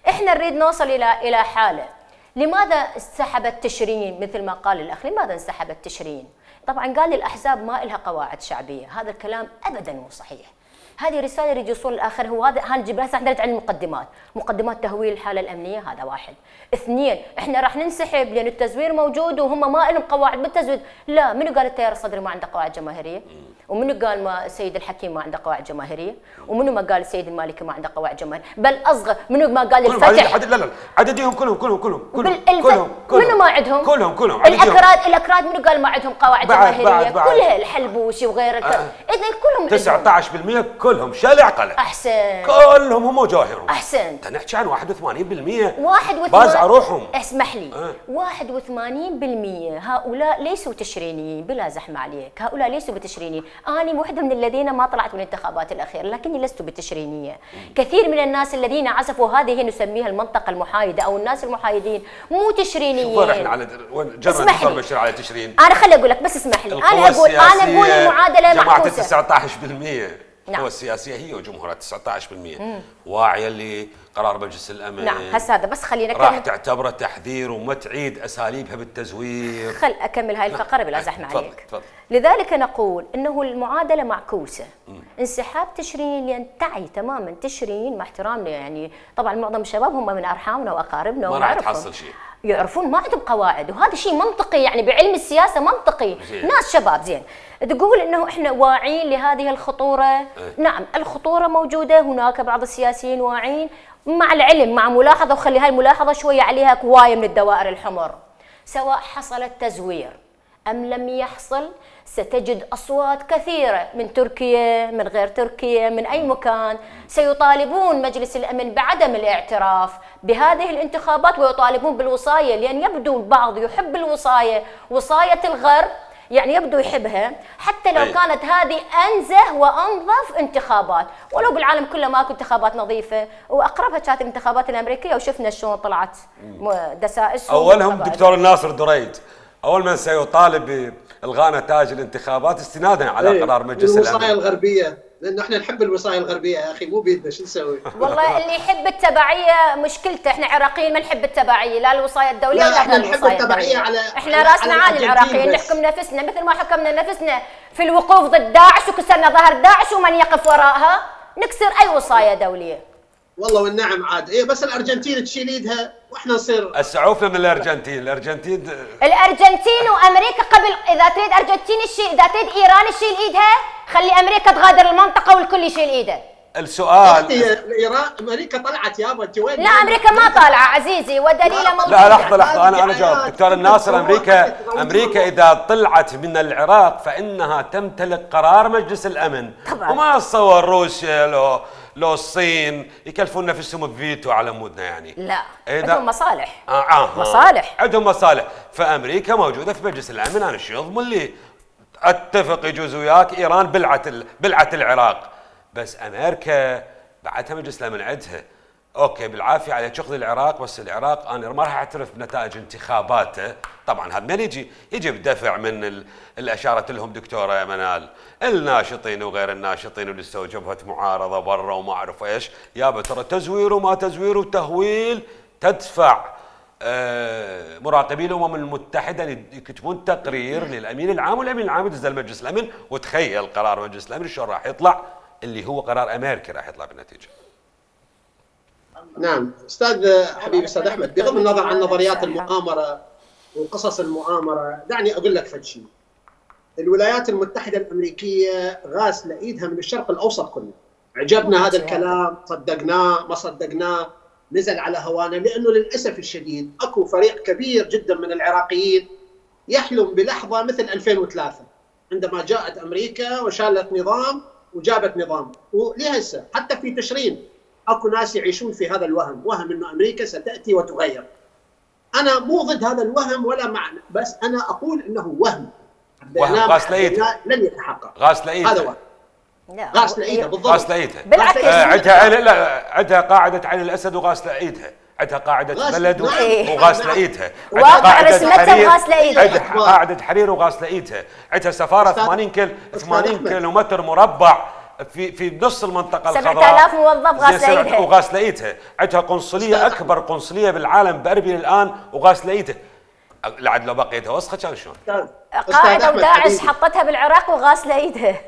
S3: إحنا نريد نوصل إلى إلى حالة، لماذا انسحبت تشرين مثل ما قال الأخ؟ لماذا انسحبت تشرين؟ طبعا قال الأحزاب ما لها قواعد شعبية، هذا الكلام أبدا مو صحيح. هذه رسالة يريد يوصل الآخر، هو هذا هنجيب هسه احنا عن المقدمات، مقدمات تهويل الحالة الأمنية هذا واحد، اثنين احنا راح ننسحب لأن التزوير موجود وهم ما لهم قواعد بالتزوير، لا منو قال التيار الصدري ما عنده قواعد جماهيرية؟ ومنو قال ما السيد الحكيم ما عنده قواعد جماهيرية؟ ومنو ما قال السيد المالكي ما عنده قواعد جماهيرية؟ بل أصغر منو ما قال الفتح؟
S1: لا لا عدديهم كلهم كلهم كلهم كلهم
S3: كلهم منو منو ما عندهم؟
S1: كلهم كلهم
S3: الاكراد الاكراد منو قال ما عندهم قواعد
S1: بعد
S3: جماهيريه؟
S1: بعد بعد
S3: كلها الحلبوسي وغيره آه. اذا كلهم
S1: تسعة عشر بالمئة كلهم شال عقله.
S3: احسن
S1: كلهم هم وجاهرهم.
S3: احسن
S1: نحكي عن واحد وثمانين بالمئة
S3: واحد وثمانين
S1: بازع روحهم.
S3: اسمح لي
S1: آه.
S3: واحد وثمانين بالمئة هؤلاء ليسوا تشرينيين، بلا زحمه عليك، هؤلاء ليسوا بتشرينيين، انا واحده من الذين ما طلعت من الانتخابات الاخيره لكني لست بتشرينيه. كثير من الناس الذين عزفوا هذه نسميها المنطقه المحايده او الناس المحايدين مو تشرينيين.
S1: وين احنا على وين جرى الدكتور بشير على تشرين؟
S3: انا خلي اقول لك بس اسمح لي، انا اقول انا اقول المعادله
S1: جماعه
S3: معكوسه.
S1: تسعة عشر بالمئة
S3: نعم.
S1: القوى السياسيه هي وجمهورها تسعة عشر بالمئة واعيه لقرار مجلس الامن.
S3: نعم هسه هذا بس خلينا
S1: راح
S3: نكمل.
S1: تعتبره تحذير وما تعيد اساليبها بالتزوير.
S3: خل اكمل هاي الفقره بلا زحمه
S1: تفضل
S3: عليك.
S1: تفضل.
S3: لذلك نقول انه المعادله معكوسه. انسحاب تشرين ينتعي تماما تشرين، مع احترامنا يعني طبعا معظم الشباب هم من ارحامنا واقاربنا
S1: ما راح تحصل شيء،
S3: يعرفون ما عندهم قواعد، وهذا شيء منطقي يعني بعلم السياسه منطقي.
S1: زين.
S3: ناس شباب زين تقول انه احنا واعيين لهذه الخطوره.
S1: اه.
S3: نعم الخطوره موجوده، هناك بعض السياسيين واعيين مع العلم مع ملاحظه، وخلي هاي الملاحظه شويه عليها كوايه من الدوائر الحمر. سواء حصل التزوير ام لم يحصل ستجد أصوات كثيرة من تركيا من غير تركيا من أي مكان سيطالبون مجلس الأمن بعدم الاعتراف بهذه الانتخابات ويطالبون بالوصاية، لأن يبدو البعض يحب الوصاية، وصاية الغرب يعني يبدو يحبها حتى لو
S1: أي.
S3: كانت هذه أنزه وأنظف انتخابات، ولو بالعالم كله ماكو انتخابات نظيفة، وأقربها كانت الانتخابات الأمريكية وشفنا شلون طلعت دسائس.
S1: أولهم دكتور الناصر دريد أول من سيطالب بإلغاء نتائج الانتخابات استنادا على
S4: ايه
S1: قرار مجلس الأمن.
S4: الوصاية الغربية، لأنه احنا نحب الوصاية الغربية يا أخي، مو بيدنا شو نسوي؟
S3: والله اللي يحب التبعية مشكلته، احنا عراقيين ما نحب التبعية، لا الوصاية الدولية
S4: لا
S3: ولا
S4: احنا نحب التبعية على
S3: احنا راسنا عالي العراقيين، نحكم نفسنا مثل ما حكمنا نفسنا في الوقوف ضد داعش وكسرنا ظهر داعش ومن يقف وراءها نكسر أي وصاية دولية.
S4: والله والنعم عاد، ايه بس الارجنتين تشيل ايدها واحنا نصير
S1: السعوفة من الارجنتين، الارجنتين
S3: الارجنتين وامريكا قبل، اذا تريد ارجنتين تشيل، اذا تريد ايران تشيل ايدها، خلي امريكا تغادر المنطقة والكل يشيل ايده.
S1: السؤال
S4: ايران امريكا طلعت يابا انت وين؟
S3: لا امريكا ما طالعه عزيزي ودليله موجود.
S1: لا لحظة لحظة انا انا جاوب دكتور الناصر. امريكا امريكا اذا طلعت من العراق فانها تمتلك قرار مجلس الامن طبعا. وما تصور روسيا لو لو الصين يكلفون نفسهم بفيتو على مودنا يعني.
S3: لا عندهم مصالح.
S1: آه آه
S3: مصالح
S1: عندهم مصالح، فامريكا موجوده في مجلس الامن. انا شو يضمن لي اتفق يجوز وياك ايران بلعه بلعه العراق، بس امريكا بعدها مجلس الامن عندها اوكي بالعافيه على شغل العراق، بس العراق انا ما راح اعترف بنتائج انتخاباته. طبعا هذا من يجي يجي بدفع من ال... اللي اشارت لهم دكتوره منال، الناشطين وغير الناشطين اللي استوجبت معارضه برا وما اعرف ايش، يابا ترى تزوير وما تزوير وتهويل. تدفع آه مراقبي الامم المتحده يكتبون تقرير للامين العام، والامين العام يدز مجلس الامن، وتخيل قرار مجلس الامن شلون راح يطلع، اللي هو قرار امريكا راح يطلع بالنتيجه.
S4: نعم استاذ حبيبي استاذ احمد، بغض النظر عن نظريات المؤامره وقصص المؤامره، دعني اقول لك فد شيء. الولايات المتحده الامريكيه غاسله ايدها من الشرق الاوسط كله. عجبنا هذا الكلام، صدقناه ما صدقناه، نزل على هوانا، لانه للاسف الشديد اكو فريق كبير جدا من العراقيين يحلم بلحظه مثل ألفين وثلاثة عندما جاءت امريكا وشالت نظام وجابت نظام، ولهسه حتى في تشرين اكو ناس يعيشون في هذا الوهم، وهم انه امريكا ستاتي وتغير. انا مو ضد هذا الوهم ولا معنى، بس انا اقول انه وهم
S1: وهم غاسل ايدها
S4: لن يتحقق.
S1: غاسل ايدها
S4: هذا وهم غاسل ايدها بالضبط.
S1: غاسل ايدها
S3: بالعكس
S1: عندها عين، لا عندها قاعده عين الاسد وغاسل ايدها، عندها قاعده بلد وغاسل ايدها،
S3: واقع رسمتها وغاسل ايدها،
S1: عندها قاعده حرير وغاسل ايدها، عندها سفاره ثمانين كيلو ثمانين كيلومتر مربع في في نص المنطقه الخضراء،
S3: سبعة آلاف موظف غاسله ايدها
S1: وغاسله ايدها، عندها قنصليه اكبر قنصليه بالعالم باربيل الان وغاسله ايدها. لعد لو بقيتها وسخه كان شلون؟
S3: قاعده وداعش حطتها بالعراق وغاسله ايدها.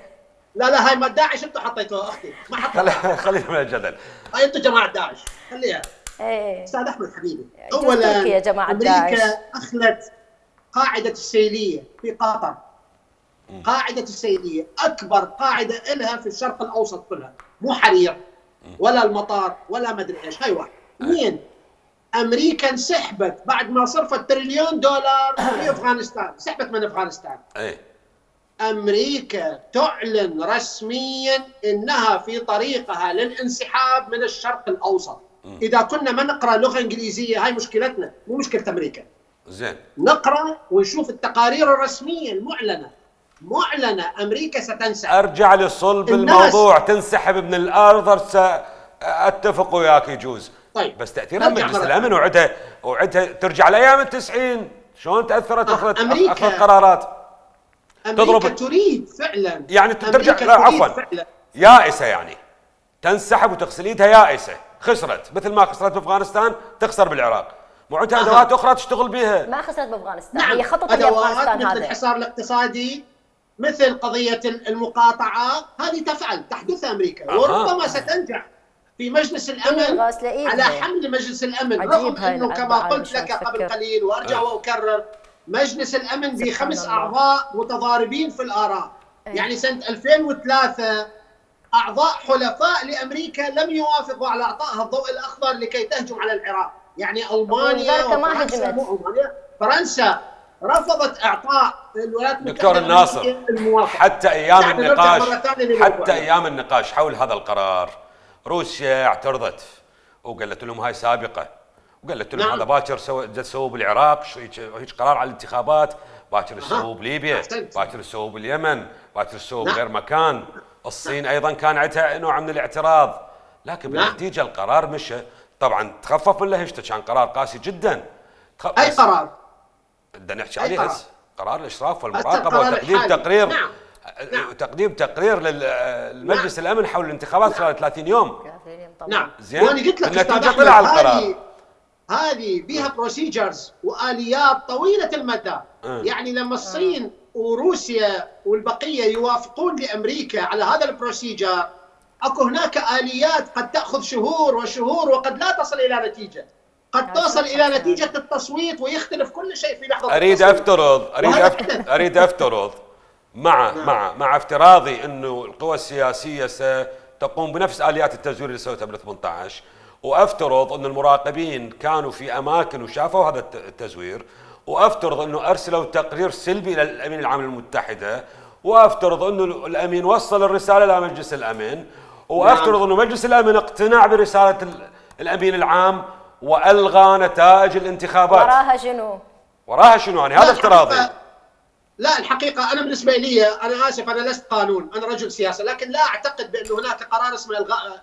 S4: لا لا هاي ما داعش انتم حطيتوها اختي، ما حطيتوها.
S1: خلينا من الجدل.
S4: هاي انتم جماعه داعش، خليها.
S3: ايه
S4: استاذ احمد حبيبي،
S3: اولا يا جماعه
S4: امريكا
S3: داعش
S4: اخلت قاعده السيليه في قطر. قاعده السيليه اكبر قاعده لها في الشرق الاوسط كلها، مو حرير ولا المطار ولا مدري ايش. هاي واحد. اثنين، امريكا انسحبت بعد ما صرفت تريليون دولار في افغانستان، سحبت من افغانستان.
S1: اي
S4: امريكا تعلن رسميا انها في طريقها للانسحاب من الشرق الاوسط. م. اذا كنا ما نقرا لغه انجليزيه هاي مشكلتنا، مو مشكله امريكا.
S1: زين.
S4: نقرا ونشوف التقارير الرسميه المعلنه. معلنه امريكا ستنسحب.
S1: ارجع لصلب الموضوع، تنسحب من الارض اتفق وياك يجوز. طيب بس تاثيرها مجلس الامن وعدها وعدها ترجع لايام التسعين، شلون تاثرت اخذت
S4: أمريكا
S1: اخذت قرارات؟
S4: امريكا تضرب تريد فعلا،
S1: يعني ترجع لا عفوا يائسه، يعني تنسحب وتغسل ايدها يائسه، خسرت مثل ما خسرت بافغانستان تخسر بالعراق، معدها ادوات اخرى تشتغل بها.
S3: ما خسرت بافغانستان،
S4: نعم.
S3: هي خطط
S4: لافغانستان مثل هذا. الحصار الاقتصادي، مثل قضيه المقاطعه، هذه تفعل تحدث امريكا. أه. وربما ستنجح في مجلس الامن على حمل مجلس الامن، رغم انه كما قلت لك قبل قليل وارجع واكرر، مجلس الامن بخمس اعضاء متضاربين في الاراء. أيه. يعني سنه ألفين وثلاثة اعضاء حلفاء لامريكا لم يوافقوا على اعطائها الضوء الاخضر لكي تهجم على العراق، يعني المانيا وفرنسا، مو المانيا، فرنسا رفضت اعطاء الولايات المتحده
S1: دكتور الناصر
S4: الموافقه
S1: حتى ايام النقاش حتى ايام النقاش حول هذا القرار روسيا اعترضت وقالت لهم هاي سابقه، وقالت لهم نعم. هذا باكر سووا تسووا بالعراق، هيك قرار على الانتخابات، باكر تسووا بليبيا، باكر تسووا باليمن، باكر تسووا نعم. بغير مكان. الصين ايضا كان عندها نوع من الاعتراض، لكن
S4: نعم.
S1: بالنتيجه القرار مشى. طبعا تخفف من لهجته، كان قرار قاسي جدا.
S4: اي قرار؟
S1: بدنا نحكي عليه هسه، قرار الاشراف والمراقبه وتقديم تقرير نعم. نعم. تقديم تقرير للمجلس نعم. الامن حول الانتخابات خلال ثلاثين يوم.
S4: نعم.
S1: زين.
S4: وانا قلت لك
S1: النتيجه طلع القرار.
S4: هذه بها بروسيجرز واليات طويله المدى. م. يعني لما الصين وروسيا والبقيه يوافقون لامريكا على هذا البروسيجر، اكو هناك اليات قد تاخذ شهور وشهور وقد لا تصل الى نتيجه. قد تصل الى نتيجه التصويت ويختلف كل شيء في لحظه
S1: اريد
S4: التصويت.
S1: افترض اريد أفترض اريد افترض مع نعم. مع مع افتراضي انه القوى السياسيه ستقوم بنفس اليات التزوير اللي سوتها بال ثمانية عشر، وافترض ان المراقبين كانوا في اماكن وشافوا هذا التزوير، وافترض انه ارسلوا تقرير سلبي الى الامين العام للمتحده، وافترض انه الامين وصل الرساله الى مجلس الامن، وافترض نعم. انه مجلس الامن اقتنع برساله الامين العام والغى نتائج الانتخابات.
S3: وراها شنو؟
S1: وراها شنو؟ يعني هذا افتراضي.
S4: لا الحقيقه انا بالنسبه لي، انا اسف انا لست قانون، انا رجل سياسه، لكن لا اعتقد بان هناك قرار اسمه الغاء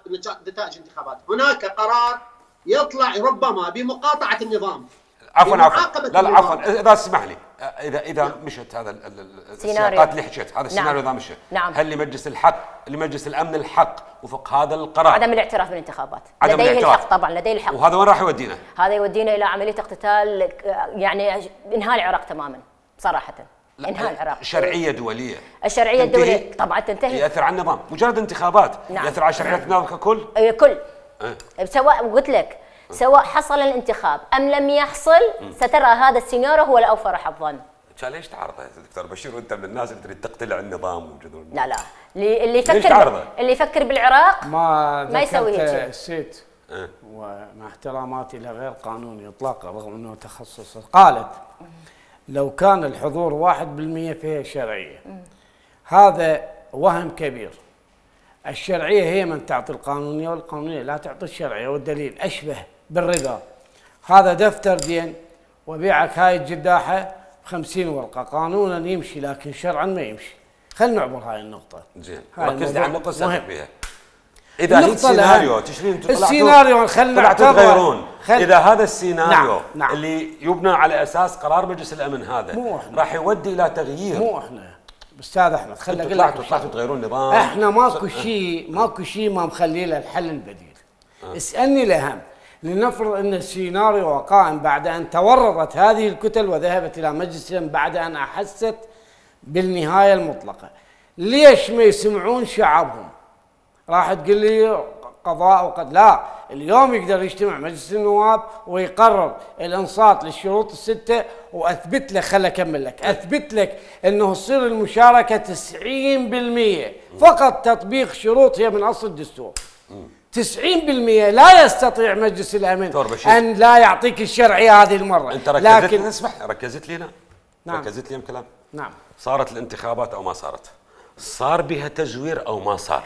S4: نتائج الانتخابات، هناك قرار يطلع ربما بمقاطعه النظام.
S1: عفوا عفوا لا لا عفوا اذا اسمح لي، اذا اذا مشت هذا السياقات اللي حكيت، هذا السيناريو اذا مشى،
S3: نعم.
S1: هل لمجلس الحق لمجلس الامن الحق وفق هذا القرار؟
S3: عدم الاعتراف بالانتخابات، لديه الحق طبعا، لديه الحق.
S1: وهذا وين راح يودينا؟
S3: هذا يودينا الى عمليه اقتتال، يعني انهاء العراق تماما صراحه. انهاء العراق
S1: شرعيه دوليه،
S3: الشرعيه الدوليه طبعا تنتهي،
S1: ياثر على النظام، مجرد انتخابات
S3: نعم.
S1: ياثر على شرعيه النظام ككل؟
S3: اي كل أه. سواء قلت لك سواء حصل الانتخاب ام لم يحصل، سترى هذا السيناريو هو الاوفر حظا.
S1: كان ليش تعرضه يا دكتور بشير وانت من الناس اللي تريد تقتلع النظام وجذور؟
S3: لا لا اللي يفكر اللي يفكر بالعراق
S5: ما
S3: ما يسوي هيك شيء.
S5: الست أه. ومع احتراماتي لغير قانوني اطلاقا رغم انه تخصص، قالت لو كان الحضور واحد بالمئة فهي شرعيه. هذا وهم كبير. الشرعيه هي من تعطي القانونيه، والقانونيه لا تعطي الشرعيه، والدليل اشبه بالربا. هذا دفتر دين وبيعك هاي الجداحه بخمسين ورقه، قانونا يمشي لكن شرعا ما يمشي. خلينا نعبر هاي النقطه.
S1: زين ركز لي على النقطه اللي بها. اذا هي سيناريو تشرين
S5: السيناريو خلينا نعتبر
S1: تغيرون خل... اذا هذا السيناريو
S5: نعم. نعم.
S1: اللي يبنى على اساس قرار مجلس الامن هذا راح يودي الى تغيير.
S5: مو احنا استاذ احمد، خلينا
S1: اقول لك طلعتوا تغيرون النظام.
S5: احنا ماكو شيء ماكو شيء ما مخلي له الحل البديل. أه. اسالني الاهم، لنفرض ان السيناريو قائم بعد ان تورطت هذه الكتل وذهبت الى مجلس الامن بعد ان احست بالنهايه المطلقه، ليش ما يسمعون شعبهم؟ راح تقول لي قضاء وقد لا، اليوم يقدر يجتمع مجلس النواب ويقرر الانصات للشروط السته، واثبت لك، خل اكمل لك، اثبت لك انه تصير المشاركه تسعين بالمئة، فقط تطبيق شروط هي من اصل الدستور. تسعين بالمئة لا يستطيع مجلس الامن ان لا يعطيك الشرعيه هذه المره.
S1: انت ركزت لكن اسمح ركزت لي. نعم ركزت لي كلام.
S5: نعم.
S1: صارت الانتخابات او ما صارت، صار بها تزوير او ما صار،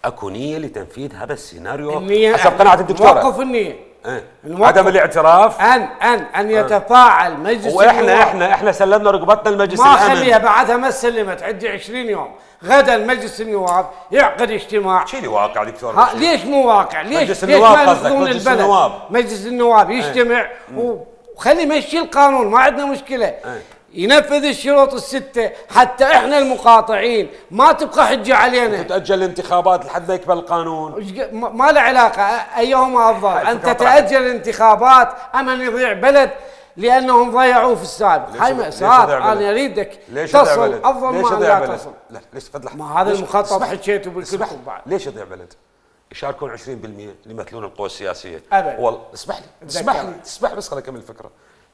S1: اكو نيه لتنفيذ هذا السيناريو
S5: النية
S1: حسب قناعه الدكتوره.
S5: موقف النيه
S1: ايه؟ عدم الاعتراف
S5: ان ان ان يتفاعل مجلس
S1: واحنا
S5: النواب.
S1: احنا احنا سلمنا رقبتنا لمجلس
S5: ما
S1: الامن.
S5: ما خليها بعدها ما سلمت، عندي عشرين يوم. غدا مجلس النواب يعقد اجتماع.
S1: شيلي واقع دكتور.
S5: ليش مو واقع؟ ليش
S1: مجلس
S5: ليش
S1: النواب
S5: ما
S1: قصدك؟
S5: يرفضون
S1: مجلس
S5: البلد؟
S1: النواب
S5: مجلس النواب يجتمع ايه؟ وخلي يمشي القانون، ما عندنا مشكله ايه؟ ينفذ الشروط الستة حتى احنا المقاطعين ما تبقى حجة علينا.
S1: تتأجل الانتخابات لحد ما يقبل القانون.
S5: ما له علاقة ايهما افضل، ان تتأجل الانتخابات ام ان يضيع بلد لانهم ضيعوه في السابق. هاي مأساة. انا اريدك تصل افضل ما لا تصل.
S1: لا ليش فضلح
S5: ما هذا المخطط حكيته بالكل بعد.
S1: ليش يضيع بلد؟ يشاركون عشرين بالمئة اللي يمثلون القوى السياسية.
S5: ابدا.
S1: والله اسمح لي اسمح لي اسمح بس خليني اكمل الفكرة.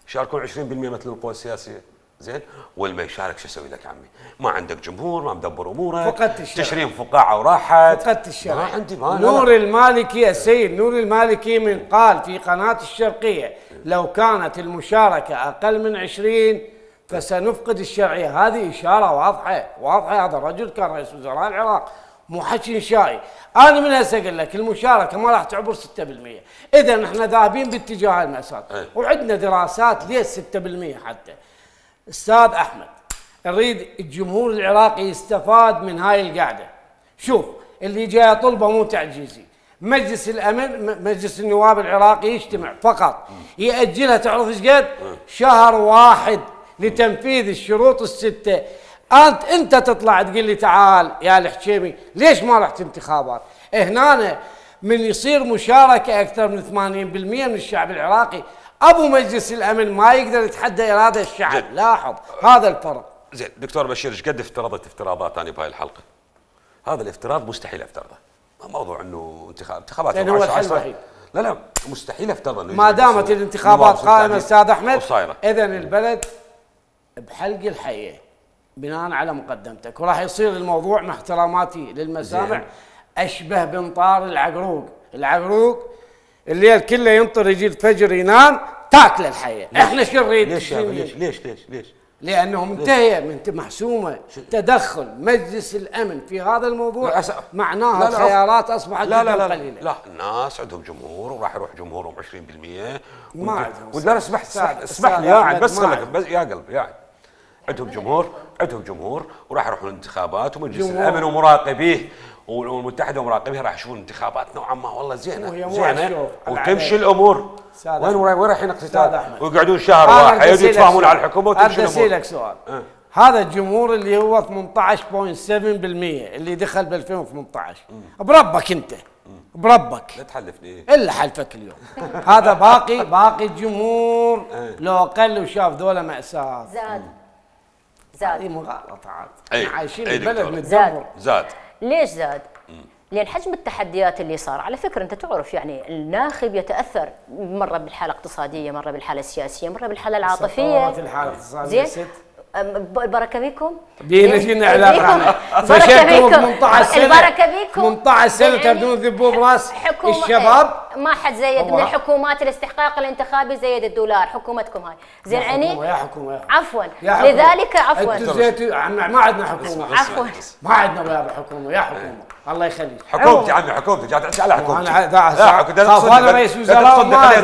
S1: يشاركون عشرين بالمئة يمثلون القوى السياسية. زين والما يشارك شو اسوي لك عمي؟ ما عندك جمهور، ما مدبر امورك،
S5: فقدت الشرع،
S1: تشرين فقاعه وراحت،
S5: فقدت الشرع.
S1: ما عندي ما
S5: نور المالكي السيد نور المالكي من قال في قناه الشرقيه لو كانت المشاركه اقل من عشرين فسنفقد الشرعيه. هذه اشاره واضحه واضحه. هذا الرجل كان رئيس وزراء العراق، مو حكي انشائي. انا من هسه اقول لك المشاركه ما راح تعبر ستة بالمئة. اذا احنا ذاهبين باتجاه المأساة وعندنا دراسات ليش ستة بالمئة. حتى استاذ احمد نريد الجمهور العراقي يستفاد من هاي القعده. شوف اللي جاي طلبه مو تعجيزي. مجلس الامن مجلس النواب العراقي يجتمع فقط ياجلها. تعرف ايش قد؟ شهر واحد لتنفيذ الشروط السته. انت انت تطلع تقول لي تعال يا الحكيمي ليش ما رحت انتخابات؟ هنا من يصير مشاركه اكثر من ثمانين بالمئة من الشعب العراقي، ابو مجلس الامن ما يقدر يتحدى اراده الشعب. جد. لاحظ هذا الفرق.
S1: زين دكتور بشير ايش قد افترضت افتراضات انا بهاي الحلقه؟ هذا الافتراض مستحيل افترضه. موضوع انه انتخاب انتخابات
S5: يعني هو الحل الوحيد.
S1: لا لا مستحيل افترض انه
S5: ما دامت الانتخابات قائمه استاذ احمد. اذا البلد بحلق الحيه بناء على مقدمتك، وراح يصير الموضوع مع احتراماتي للمسامع اشبه بنطار العقروق. العقروق الليل كله ينطر يجي الفجر ينام تاكل الحياه. احنا شو نريد؟
S1: ليش ليش ليش ليش ليش؟
S5: لانه منتهيه من محسومه. تدخل مجلس الامن في هذا الموضوع معناها الخيارات اصبحت
S1: لا لا
S5: جدا
S1: لا
S5: قليله.
S1: لا الناس عندهم جمهور وراح يروح جمهورهم عشرين بالمئة.
S5: ما عندهم.
S1: ولا اسمح اسمح لي قاعد بس خلك بس يا قلبي قاعد. عندهم جمهور عندهم جمهور وراح يروحون الانتخابات ومجلس الامن ومراقبيه والمتحده ومراقبيه راح يشوفون انتخابات نوعا ما والله زينه زينه وتمشي الامور. وين وين رايحين اقتصاد؟ ويقعدون شهر واحد يتفاهمون على الحكومه وتمشي الامور.
S5: ارد لك سؤال. أه. هذا الجمهور اللي هو ثمانية عشر فاصلة سبعة بالمئة اللي دخل ب ألفين وثمانية عشر بربك انت بربك
S1: لا تحلفني
S5: الا حلفك اليوم. هذا باقي باقي الجمهور لو اقل وشاف ذولا مأساة.
S3: زاد زاد.
S5: هذه مغالطات.
S1: احنا
S5: عايشين البلد متدمر.
S3: زاد. ليش زاد؟ لأن حجم التحديات اللي صار، على فكرة أنت تعرف يعني الناخب يتأثر مرة بالحالة الاقتصادية، مرة بالحالة السياسية، مرة بالحالة العاطفية.
S5: الحالة الاقتصادية زين؟
S3: البركة بيكم؟
S5: بينا فينا علاقة.
S3: بركة بيكم.
S5: ثمانية عشر سنة.
S3: البركة بيكم.
S5: ثمانية عشر سنة تبدون ذبوا براس الشباب.
S3: ما حد زيد من الحكومات الاستحقاق الانتخابي زيد الدولار، حكومتكم هاي. زين عيني؟
S5: يا حكومة يا
S3: عفوا لذلك عفوا.
S5: انتم زيتوا ما عندنا حكومة.
S3: عفوا
S5: ما عندنا ويا حكومة يا حكومة. الله يخليك.
S1: حكومتي عمي حكومتي جاي تحكي على حكومتي.
S5: انا انا رئيس وزراء ما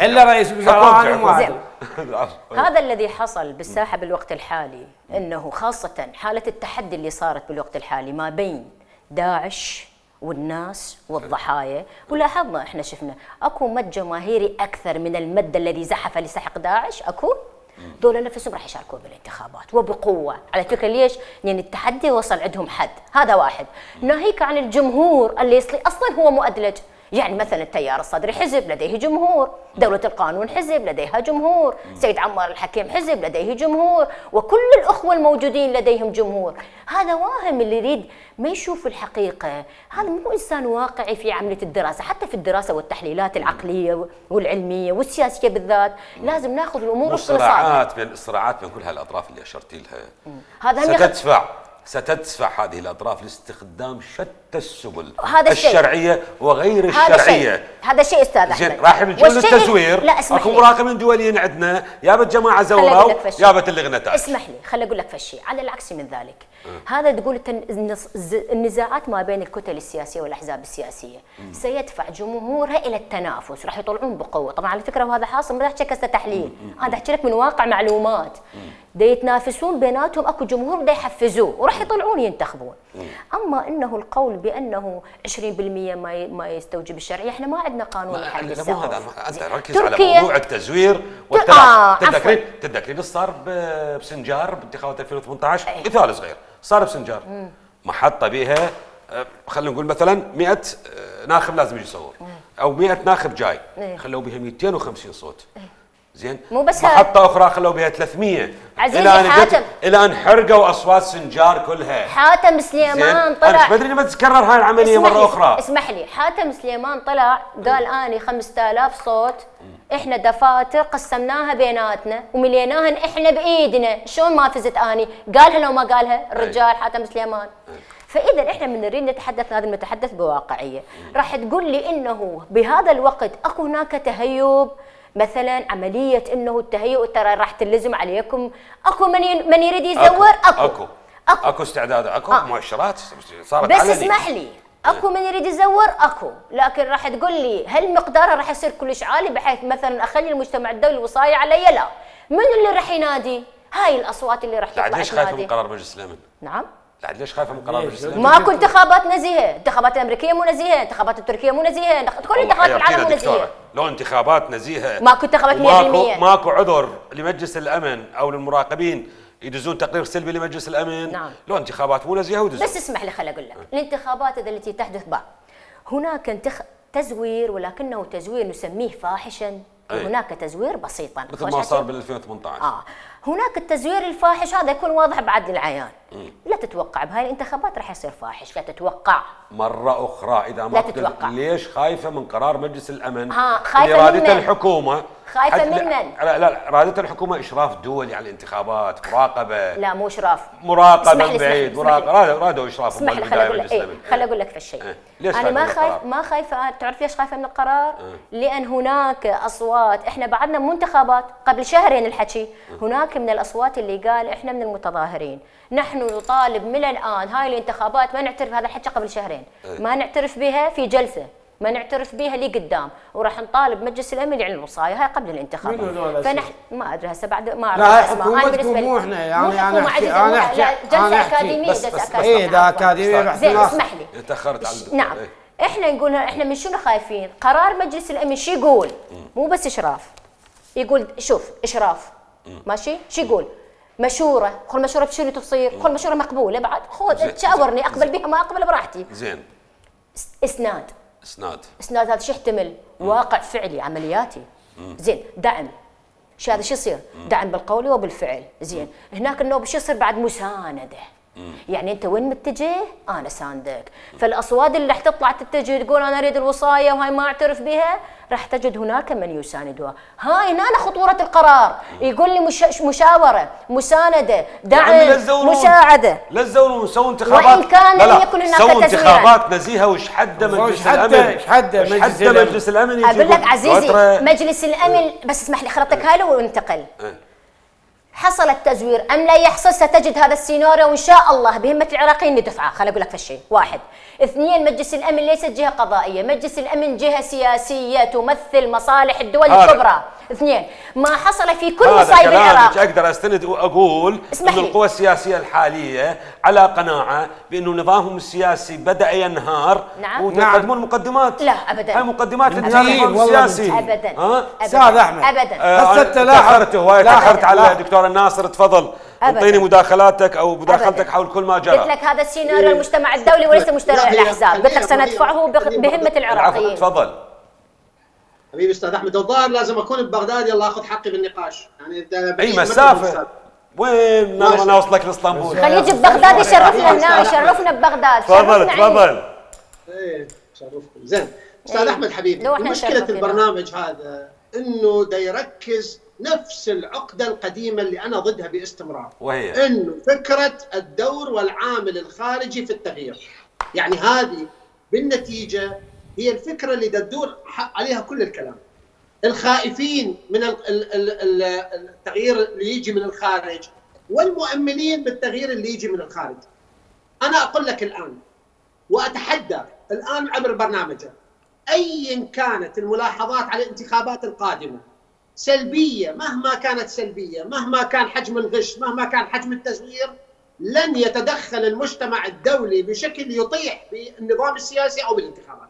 S5: الا رئيس وزراء انا ما
S3: هذا الذي حصل بالساحه بالوقت الحالي، انه خاصه حاله التحدي اللي صارت بالوقت الحالي ما بين داعش والناس والضحايا. ولاحظنا احنا شفنا اكو مد جماهيري اكثر من المد الذي زحف لسحق داعش. اكو دول نفسهم راح يشاركون بالانتخابات وبقوه. على فكره ليش؟ لان التحدي وصل عندهم حد. هذا واحد. ناهيك عن الجمهور اللي يصلي اصلا هو مؤدلج. يعني مثلا التيار الصدري حزب لديه جمهور، دولة القانون حزب لديها جمهور، سيد عمار الحكيم حزب لديه جمهور، وكل الأخوة الموجودين لديهم جمهور. هذا واهم اللي يريد ما يشوف الحقيقة. هذا مو إنسان واقعي في عملية الدراسة. حتى في الدراسة والتحليلات العقلية والعلمية والسياسية بالذات لازم ناخذ الأمور
S1: الصراعات بين الصراعات بين كل هالأطراف اللي أشرتي لها
S3: هذا
S1: ستدفع ستدفع هذه الأطراف لاستخدام شتى السبل
S3: هذا
S1: الشرعية وغير
S3: هذا
S1: الشرعية.
S3: شيء. هذا شيء أستاذ أحمد.
S1: راح يجون التزوير.
S3: لا اسمح
S1: اكو
S3: لي.
S1: مراقبين دوليين عندنا يابت جماعة زوروا يابت اللي غنتاج.
S3: اسمح لي خل أقول لك فشي على العكس من ذلك. أه. هذا تقول النزاعات ما بين الكتل السياسية والأحزاب السياسية م. سيدفع جمهورها إلى التنافس، راح يطلعون بقوة. طبعا على فكرة وهذا حاصل، ما احكي لك تحليل، انا احكي لك من واقع معلومات. دا يتنافسون بيناتهم، اكو جمهور دا يحفزوه وراح يطلعون ينتخبون. اما انه القول بانه عشرين بالمئة ما ما يستوجب الشرعيه، احنا ما عندنا قانون يحدد
S1: السقف. مو هذا، انت ركز على موضوع التزوير والتلاعب.
S3: آه
S1: تتذكرين تتذكرين ايش صار بسنجار بانتخابات ألفين وثمانية عشر؟ أيه. مثال صغير صار بسنجار، محطه بها خلينا نقول مثلا مئة ناخب لازم يجي يصور، او مئة ناخب جاي، أيه. خلوا بها مئتين وخمسين صوت. أيه. زين،
S3: مو بس
S1: محطة أخرى خلوا بها ثلاثمئة
S3: عزيزي
S1: إلى أن
S3: حاتم،
S1: إلى أن حرقوا أصوات سنجار كلها.
S3: حاتم سليمان طلع،
S1: أنا بدري ما تتكرر هاي العملية مرة أخرى.
S3: اسمح لي، حاتم سليمان طلع قال أني خمسة آلاف صوت إحنا دفاتر قسمناها بيناتنا ومليناها إحنا بإيدنا، شلون ما فزت أني؟ قالها لو ما قالها الرجال حاتم سليمان. فاذا احنا من نريد نتحدث، هذا نتحدث بواقعيه. راح تقول لي انه بهذا الوقت اكو هناك تهيب، مثلا عمليه انه التهيؤ ترى راح تلزم عليكم، اكو من من يريد يزور، اكو
S1: اكو اكو, أكو استعداد، اكو آه. مؤشرات صارت
S3: بس
S1: علني.
S3: اسمح لي، اكو من يريد يزور اكو، لكن راح تقول لي هل مقداره راح يصير كلش عالي بحيث مثلا اخلي المجتمع الدولي وصايه علي؟ لا. من اللي راح ينادي؟ هاي الاصوات اللي راح تطلع تنادي.
S1: ليش خايفه من قرار مجلس الامن؟
S3: نعم؟
S1: لا ليش خايفه من قرار مجلس الامن؟
S3: ماكو انتخابات نزيهه، انتخابات الامريكيه مو نزيهه، انتخابات التركيه مو نزيهه، كل انتخابات العالم مو نزيهه.
S1: لو انتخابات نزيهه
S3: ماكو انتخابات مئة بالمئة.
S1: ماكو ماكو عذر لمجلس الامن او للمراقبين يدزون تقرير سلبي لمجلس الامن.
S3: نعم.
S1: لو انتخابات مو نزيهه ودزون.
S3: بس اسمح لي خل اقول لك، الانتخابات التي تحدث بعد هناك انتخ... تزوير، ولكنه تزوير نسميه فاحشا، وهناك تزوير بسيطا
S1: مثل ما صار بال ألفين وثمانية عشر.
S3: اه هناك التزوير الفاحش هذا يكون واضح بعد للعيان. مم. لا تتوقع بهاي الانتخابات راح يصير فاحش، لا تتوقع.
S1: مرة أخرى إذا ما
S3: لا تتوقع.
S1: ليش خايفة من قرار مجلس الأمن؟
S3: ها خايفة
S1: اللي رادته
S3: من
S1: الحكومة.
S3: خايفة من من؟
S1: لا لا رادته الحكومة إشراف دولي على الانتخابات، مراقبة.
S3: لا مو إشراف.
S1: مراقبة من بعيد، مراقبة رادوا إشراف.
S3: اسمح لي خليني أقول لك إيه، خليني أقول لك في الشيء.
S1: اه. ليش
S3: أنا ما خايف ما خايفة، تعرف ليش خايفة من القرار؟ اه. لأن هناك أصوات، إحنا بعدنا مو انتخابات، قبل شهرين الحكي، اه. هناك من الأصوات اللي قال إحنا من المتظاهرين، نحن نطالب من الآن هاي الانتخابات ما نعترف، هذا الحكي قبل شهرين، اه. ما نعترف بها في جلسة، ما نعترف بها لي قدام، وراح نطالب مجلس الامن يعلن الوصايه هاي قبل الانتخابات. فنحن ما ادري هسه بعد ما اعرف
S5: اسماء. لا بالنسبه مو احنا يعني انا احكي انا احكي
S3: جلسه اكاديميه، جلسه اكاديميه.
S5: ايه ده اكاديميه.
S3: زين اسمح لي.
S1: تاخرت على الدكتور.
S3: نعم ايه؟ احنا نقول احنا من شنو خايفين؟ قرار مجلس الامن شو يقول؟ مو بس اشراف، يقول شوف اشراف ماشي، شو يقول؟ مشوره، خل مشوره بشنو تصير؟ خل مشوره مقبوله بعد، خذ تشاورني اقبل بها ما اقبل براحتي.
S1: زين.
S3: اسناد.
S1: اسناد.
S3: اسناد هذا شو يحتمل؟ واقع فعلي عملياتي. مم. زين، دعم. شو هذا شو يصير؟ دعم بالقول وبالفعل، زين، هناك النوب شو يصير بعد؟ مسانده. مم. يعني انت وين متجه؟ انا ساندك، فالاصوات اللي راح تطلع تتجه تقول انا اريد الوصايه وهاي ما اعترف بها، راح تجد هناك من يساندها. هاي هنا خطوره القرار، يقول لي مش مشاوره، مسانده، دعم، مساعده.
S1: لا تزورون سووا انتخابات،
S3: وان كان لم يكن هناك
S1: سووا انتخابات نزيهه. وش حد مجلس الامن؟
S5: ايش حد مجلس الامن؟
S1: مجلس الامن
S3: اقول لك عزيزي مجلس الامن، بس اسمح لي خلطك هاي وانتقل. حصل التزوير ام لا يحصل؟ ستجد هذا السيناريو وان شاء الله بهمه العراقيين ندفعه. خليني اقول لك فشيء، واحد، اثنين، مجلس الامن ليست جهه قضائيه، مجلس الامن جهه سياسيه تمثل مصالح الدول الكبرى. اثنين، ما حصل في كل مصايب العراق.
S1: اقدر استند واقول ان القوى السياسيه الحاليه على قناعه بانه نظامهم السياسي بدا ينهار.
S3: نعم.
S1: ويقدمون مقدمات.
S3: لا ابدا.
S1: هاي مقدمات للنظام السياسي.
S3: ابدا.
S5: استاذ احمد.
S3: ابدا.
S5: هسه انت
S1: لاحظت هواي تاخرت على دكتور الناصر، تفضل اعطيني مداخلاتك او مداخلتك حول كل ما جرى.
S3: قلت لك هذا السيناريو المجتمع الدولي وليس مجتمع الاحزاب، قلت لك سندفعه بهمه العراقيين.
S1: تفضل
S4: حبيبي استاذ احمد. الظاهر لازم اكون ببغداد يلا اخذ حقي بالنقاش، يعني
S1: اي مسافه. وين انا اوصلك لاسطنبول؟
S3: خليه يجي ببغداد يشرفنا هنا، يشرفنا ببغداد.
S1: تفضل تفضل.
S4: ايه شرفكم. زين استاذ احمد حبيبي، مشكله البرنامج هذا انه دا يركز نفس العقدة القديمة اللي أنا ضدها باستمرار،
S1: وهي
S4: إنه فكرة الدور والعامل الخارجي في التغيير. يعني هذه بالنتيجة هي الفكرة اللي تدور عليها كل الكلام. الخائفين من التغيير اللي يجي من الخارج والمؤملين بالتغيير اللي يجي من الخارج. أنا أقول لك الآن وأتحدى الآن عبر برنامجك، أيا كانت الملاحظات على الانتخابات القادمة سلبية، مهما كانت سلبية، مهما كان حجم الغش، مهما كان حجم التزوير، لن يتدخل المجتمع الدولي بشكل يطيح بالنظام السياسي أو بالانتخابات.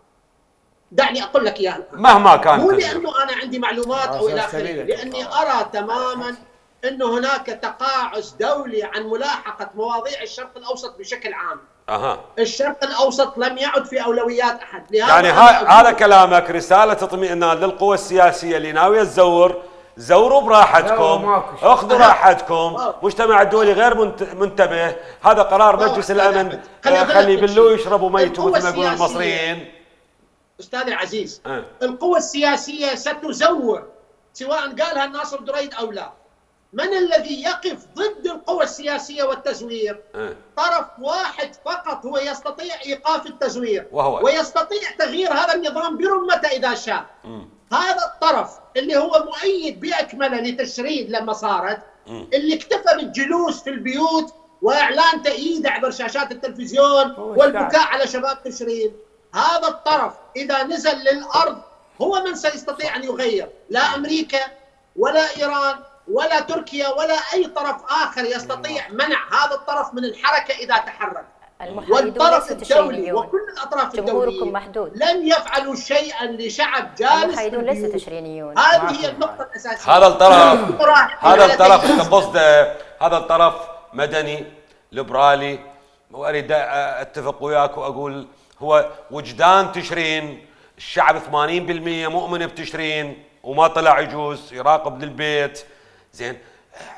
S4: دعني أقول لك إياها
S1: مهما كان،
S4: مو لأنه أنا عندي معلومات أو إلى آخره، لأني أرى تماما أنه هناك تقاعس دولي عن ملاحقة مواضيع الشرق الأوسط بشكل عام.
S1: أها.
S4: الشرق الأوسط لم يعد في أولويات أحد.
S1: يعني هذا كلامك رسالة اطمئنان للقوى السياسية اللي ناوية تزور، زوروا براحتكم، اخذوا راحتكم، مجتمع الدولي غير منتبه، هذا قرار مجلس الأمن، خلي يبلوا يشربوا ميتوا مثل ما يقولون المصريين.
S4: أستاذي العزيز،
S1: أه.
S4: القوى السياسية ستزور سواء قالها الناصر دريد أو لا. من الذي يقف ضد القوى السياسية والتزوير؟
S1: أه.
S4: طرف واحد فقط هو يستطيع إيقاف التزوير،
S1: وهو
S4: ويستطيع تغيير هذا النظام برمته إذا شاء. م. هذا الطرف اللي هو مؤيد بأكمله لتشريد لما صارت، م. اللي اكتفى بالجلوس في البيوت وإعلان تأييده عبر شاشات التلفزيون والبكاء على شباب تشرين، هذا الطرف إذا نزل للأرض هو من سيستطيع أن يغير. لا أمريكا ولا إيران ولا تركيا ولا أي طرف آخر يستطيع منع هذا الطرف من الحركة إذا تحرك. والطرف الدولي وكل الأطراف الدولية لن يفعلوا شيئا لشعب جالس.
S3: المحايدون ليس تشرينيون.
S4: هذه هي النقطة الأساسية.
S1: هذا الطرف هذا الطرف أنت قصده هذا الطرف مدني ليبرالي، وأريد أتفق وياك وأقول هو وجدان تشرين. الشعب ثمانين بالمئة مؤمن بتشرين وما طلع يجوز يراقب للبيت. زين،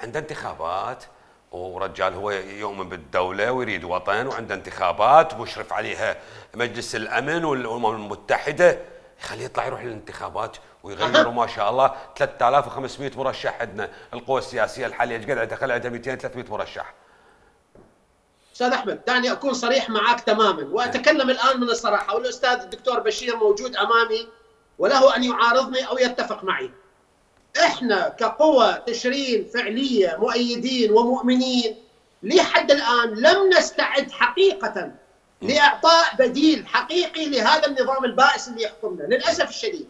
S1: عنده انتخابات ورجال هو يؤمن بالدولة ويريد وطن، وعنده انتخابات ومشرف عليها مجلس الأمن والأمم المتحدة، يخليه يطلع يروح للانتخابات ويغيروا. ما شاء الله ثلاثة آلاف وخمسمئة مرشح عندنا. القوى السياسية الحالية ايش قد عندها؟ خلي عندها مئتين ثلاثمئة مرشح.
S4: أستاذ أحمد، دعني أكون صريح معك تماما وأتكلم الآن من الصراحة، والأستاذ الدكتور بشير موجود أمامي وله أن يعارضني أو يتفق معي. إحنا كقوى تشرين فعلية مؤيدين ومؤمنين لحد الآن لم نستعد حقيقة لإعطاء بديل حقيقي لهذا النظام البائس اللي يحكمنا. للأسف الشديد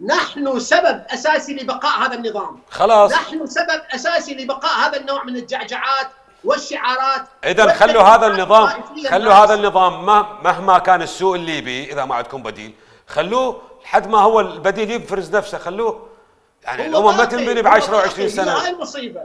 S4: نحن سبب أساسي لبقاء هذا النظام.
S1: خلاص،
S4: نحن سبب أساسي لبقاء هذا النوع من الجعجعات والشعارات.
S1: إذا خلوا هذا النظام، خلوا هذا النظام مهما كان السوء الليبي، إذا ما عندكم بديل خلوه لحد ما هو البديل يفرز نفسه. خلوه يعني الأمم ما تنبني ب عشرة وعشرين سنة.
S4: هاي المصيبة،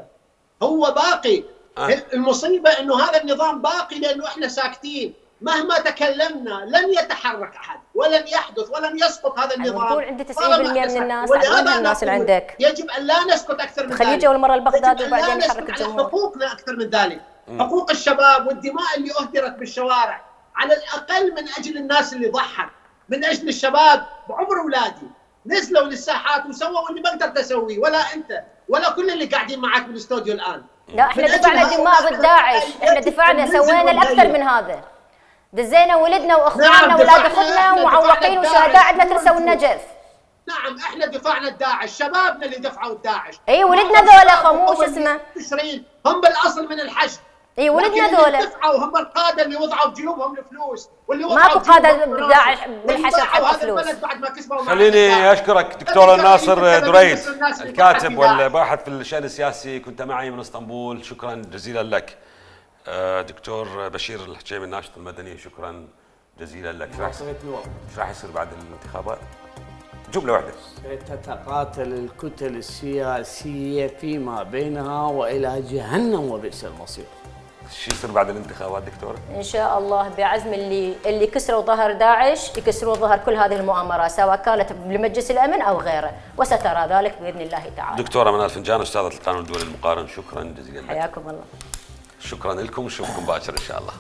S4: هو باقي. أه. المصيبة إنه هذا النظام باقي لأنه إحنا ساكتين. مهما تكلمنا لن يتحرك أحد ولن يحدث ولن يسقط هذا النظام.
S3: المفروض عند تسعين بالمئة من الناس، عدد الناس اللي عندك.
S4: يجب أن لا نسكت أكثر من ذلك.
S3: خليه والمرة البغداد وبعدين يحرك الجمهور.
S4: على حقوقنا أكثر من ذلك. م. حقوق الشباب والدماء اللي أهدرت بالشوارع، على الأقل من أجل الناس اللي ضحت، من أجل الشباب بعمر أولادي نزلوا للساحات وسووا اللي ما قدرت أسويه، ولا أنت ولا كل اللي قاعدين معك بالاستوديو الآن.
S3: لا، احنا دفعنا دماء ضد داعش، احنا دفعنا سوينا الأكثر من هذا. دزينا ولدنا واخواننا نعم واولاد اخوتنا ومعوقين وشهداء عندنا ترسى والنجف.
S4: نعم، احنا دفعنا الداعش، شبابنا اللي دفعوا الداعش.
S3: اي ولدنا ذولا خموش اسمه
S4: تشرين هم بالاصل من الحشد.
S3: اي ولدنا ذولا
S4: دفعوا هم القاده اللي وضعوا بجيوبهم الفلوس، واللي
S3: ماكو قاده بالداعش بالحشد حتى فلوس.
S4: بعد ما كسبوا.
S1: خليني اشكرك دكتور الناصر دريد، الكاتب والباحث في الشأن السياسي، كنت معي من اسطنبول. شكرا جزيلا لك. دكتور بشير الحجيمي الناشط المدني، شكرا جزيلا لك. ايش راح يصير بعد الانتخابات؟ جمله واحده.
S5: ستتقاتل الكتل السياسيه فيما بينها والى جهنم وبئس المصير.
S1: شو يصير بعد الانتخابات دكتور؟
S3: ان شاء الله بعزم اللي اللي كسروا ظهر داعش يكسروا ظهر كل هذه المؤامرات، سواء كانت بمجلس الامن او غيره، وسترى ذلك باذن الله تعالى.
S1: دكتوره منال فنجان، استاذه القانون الدولي المقارن، شكرا جزيلا لك.
S3: حياكم الله.
S1: شكرا لكم، نشوفكم باكر ان شاء الله.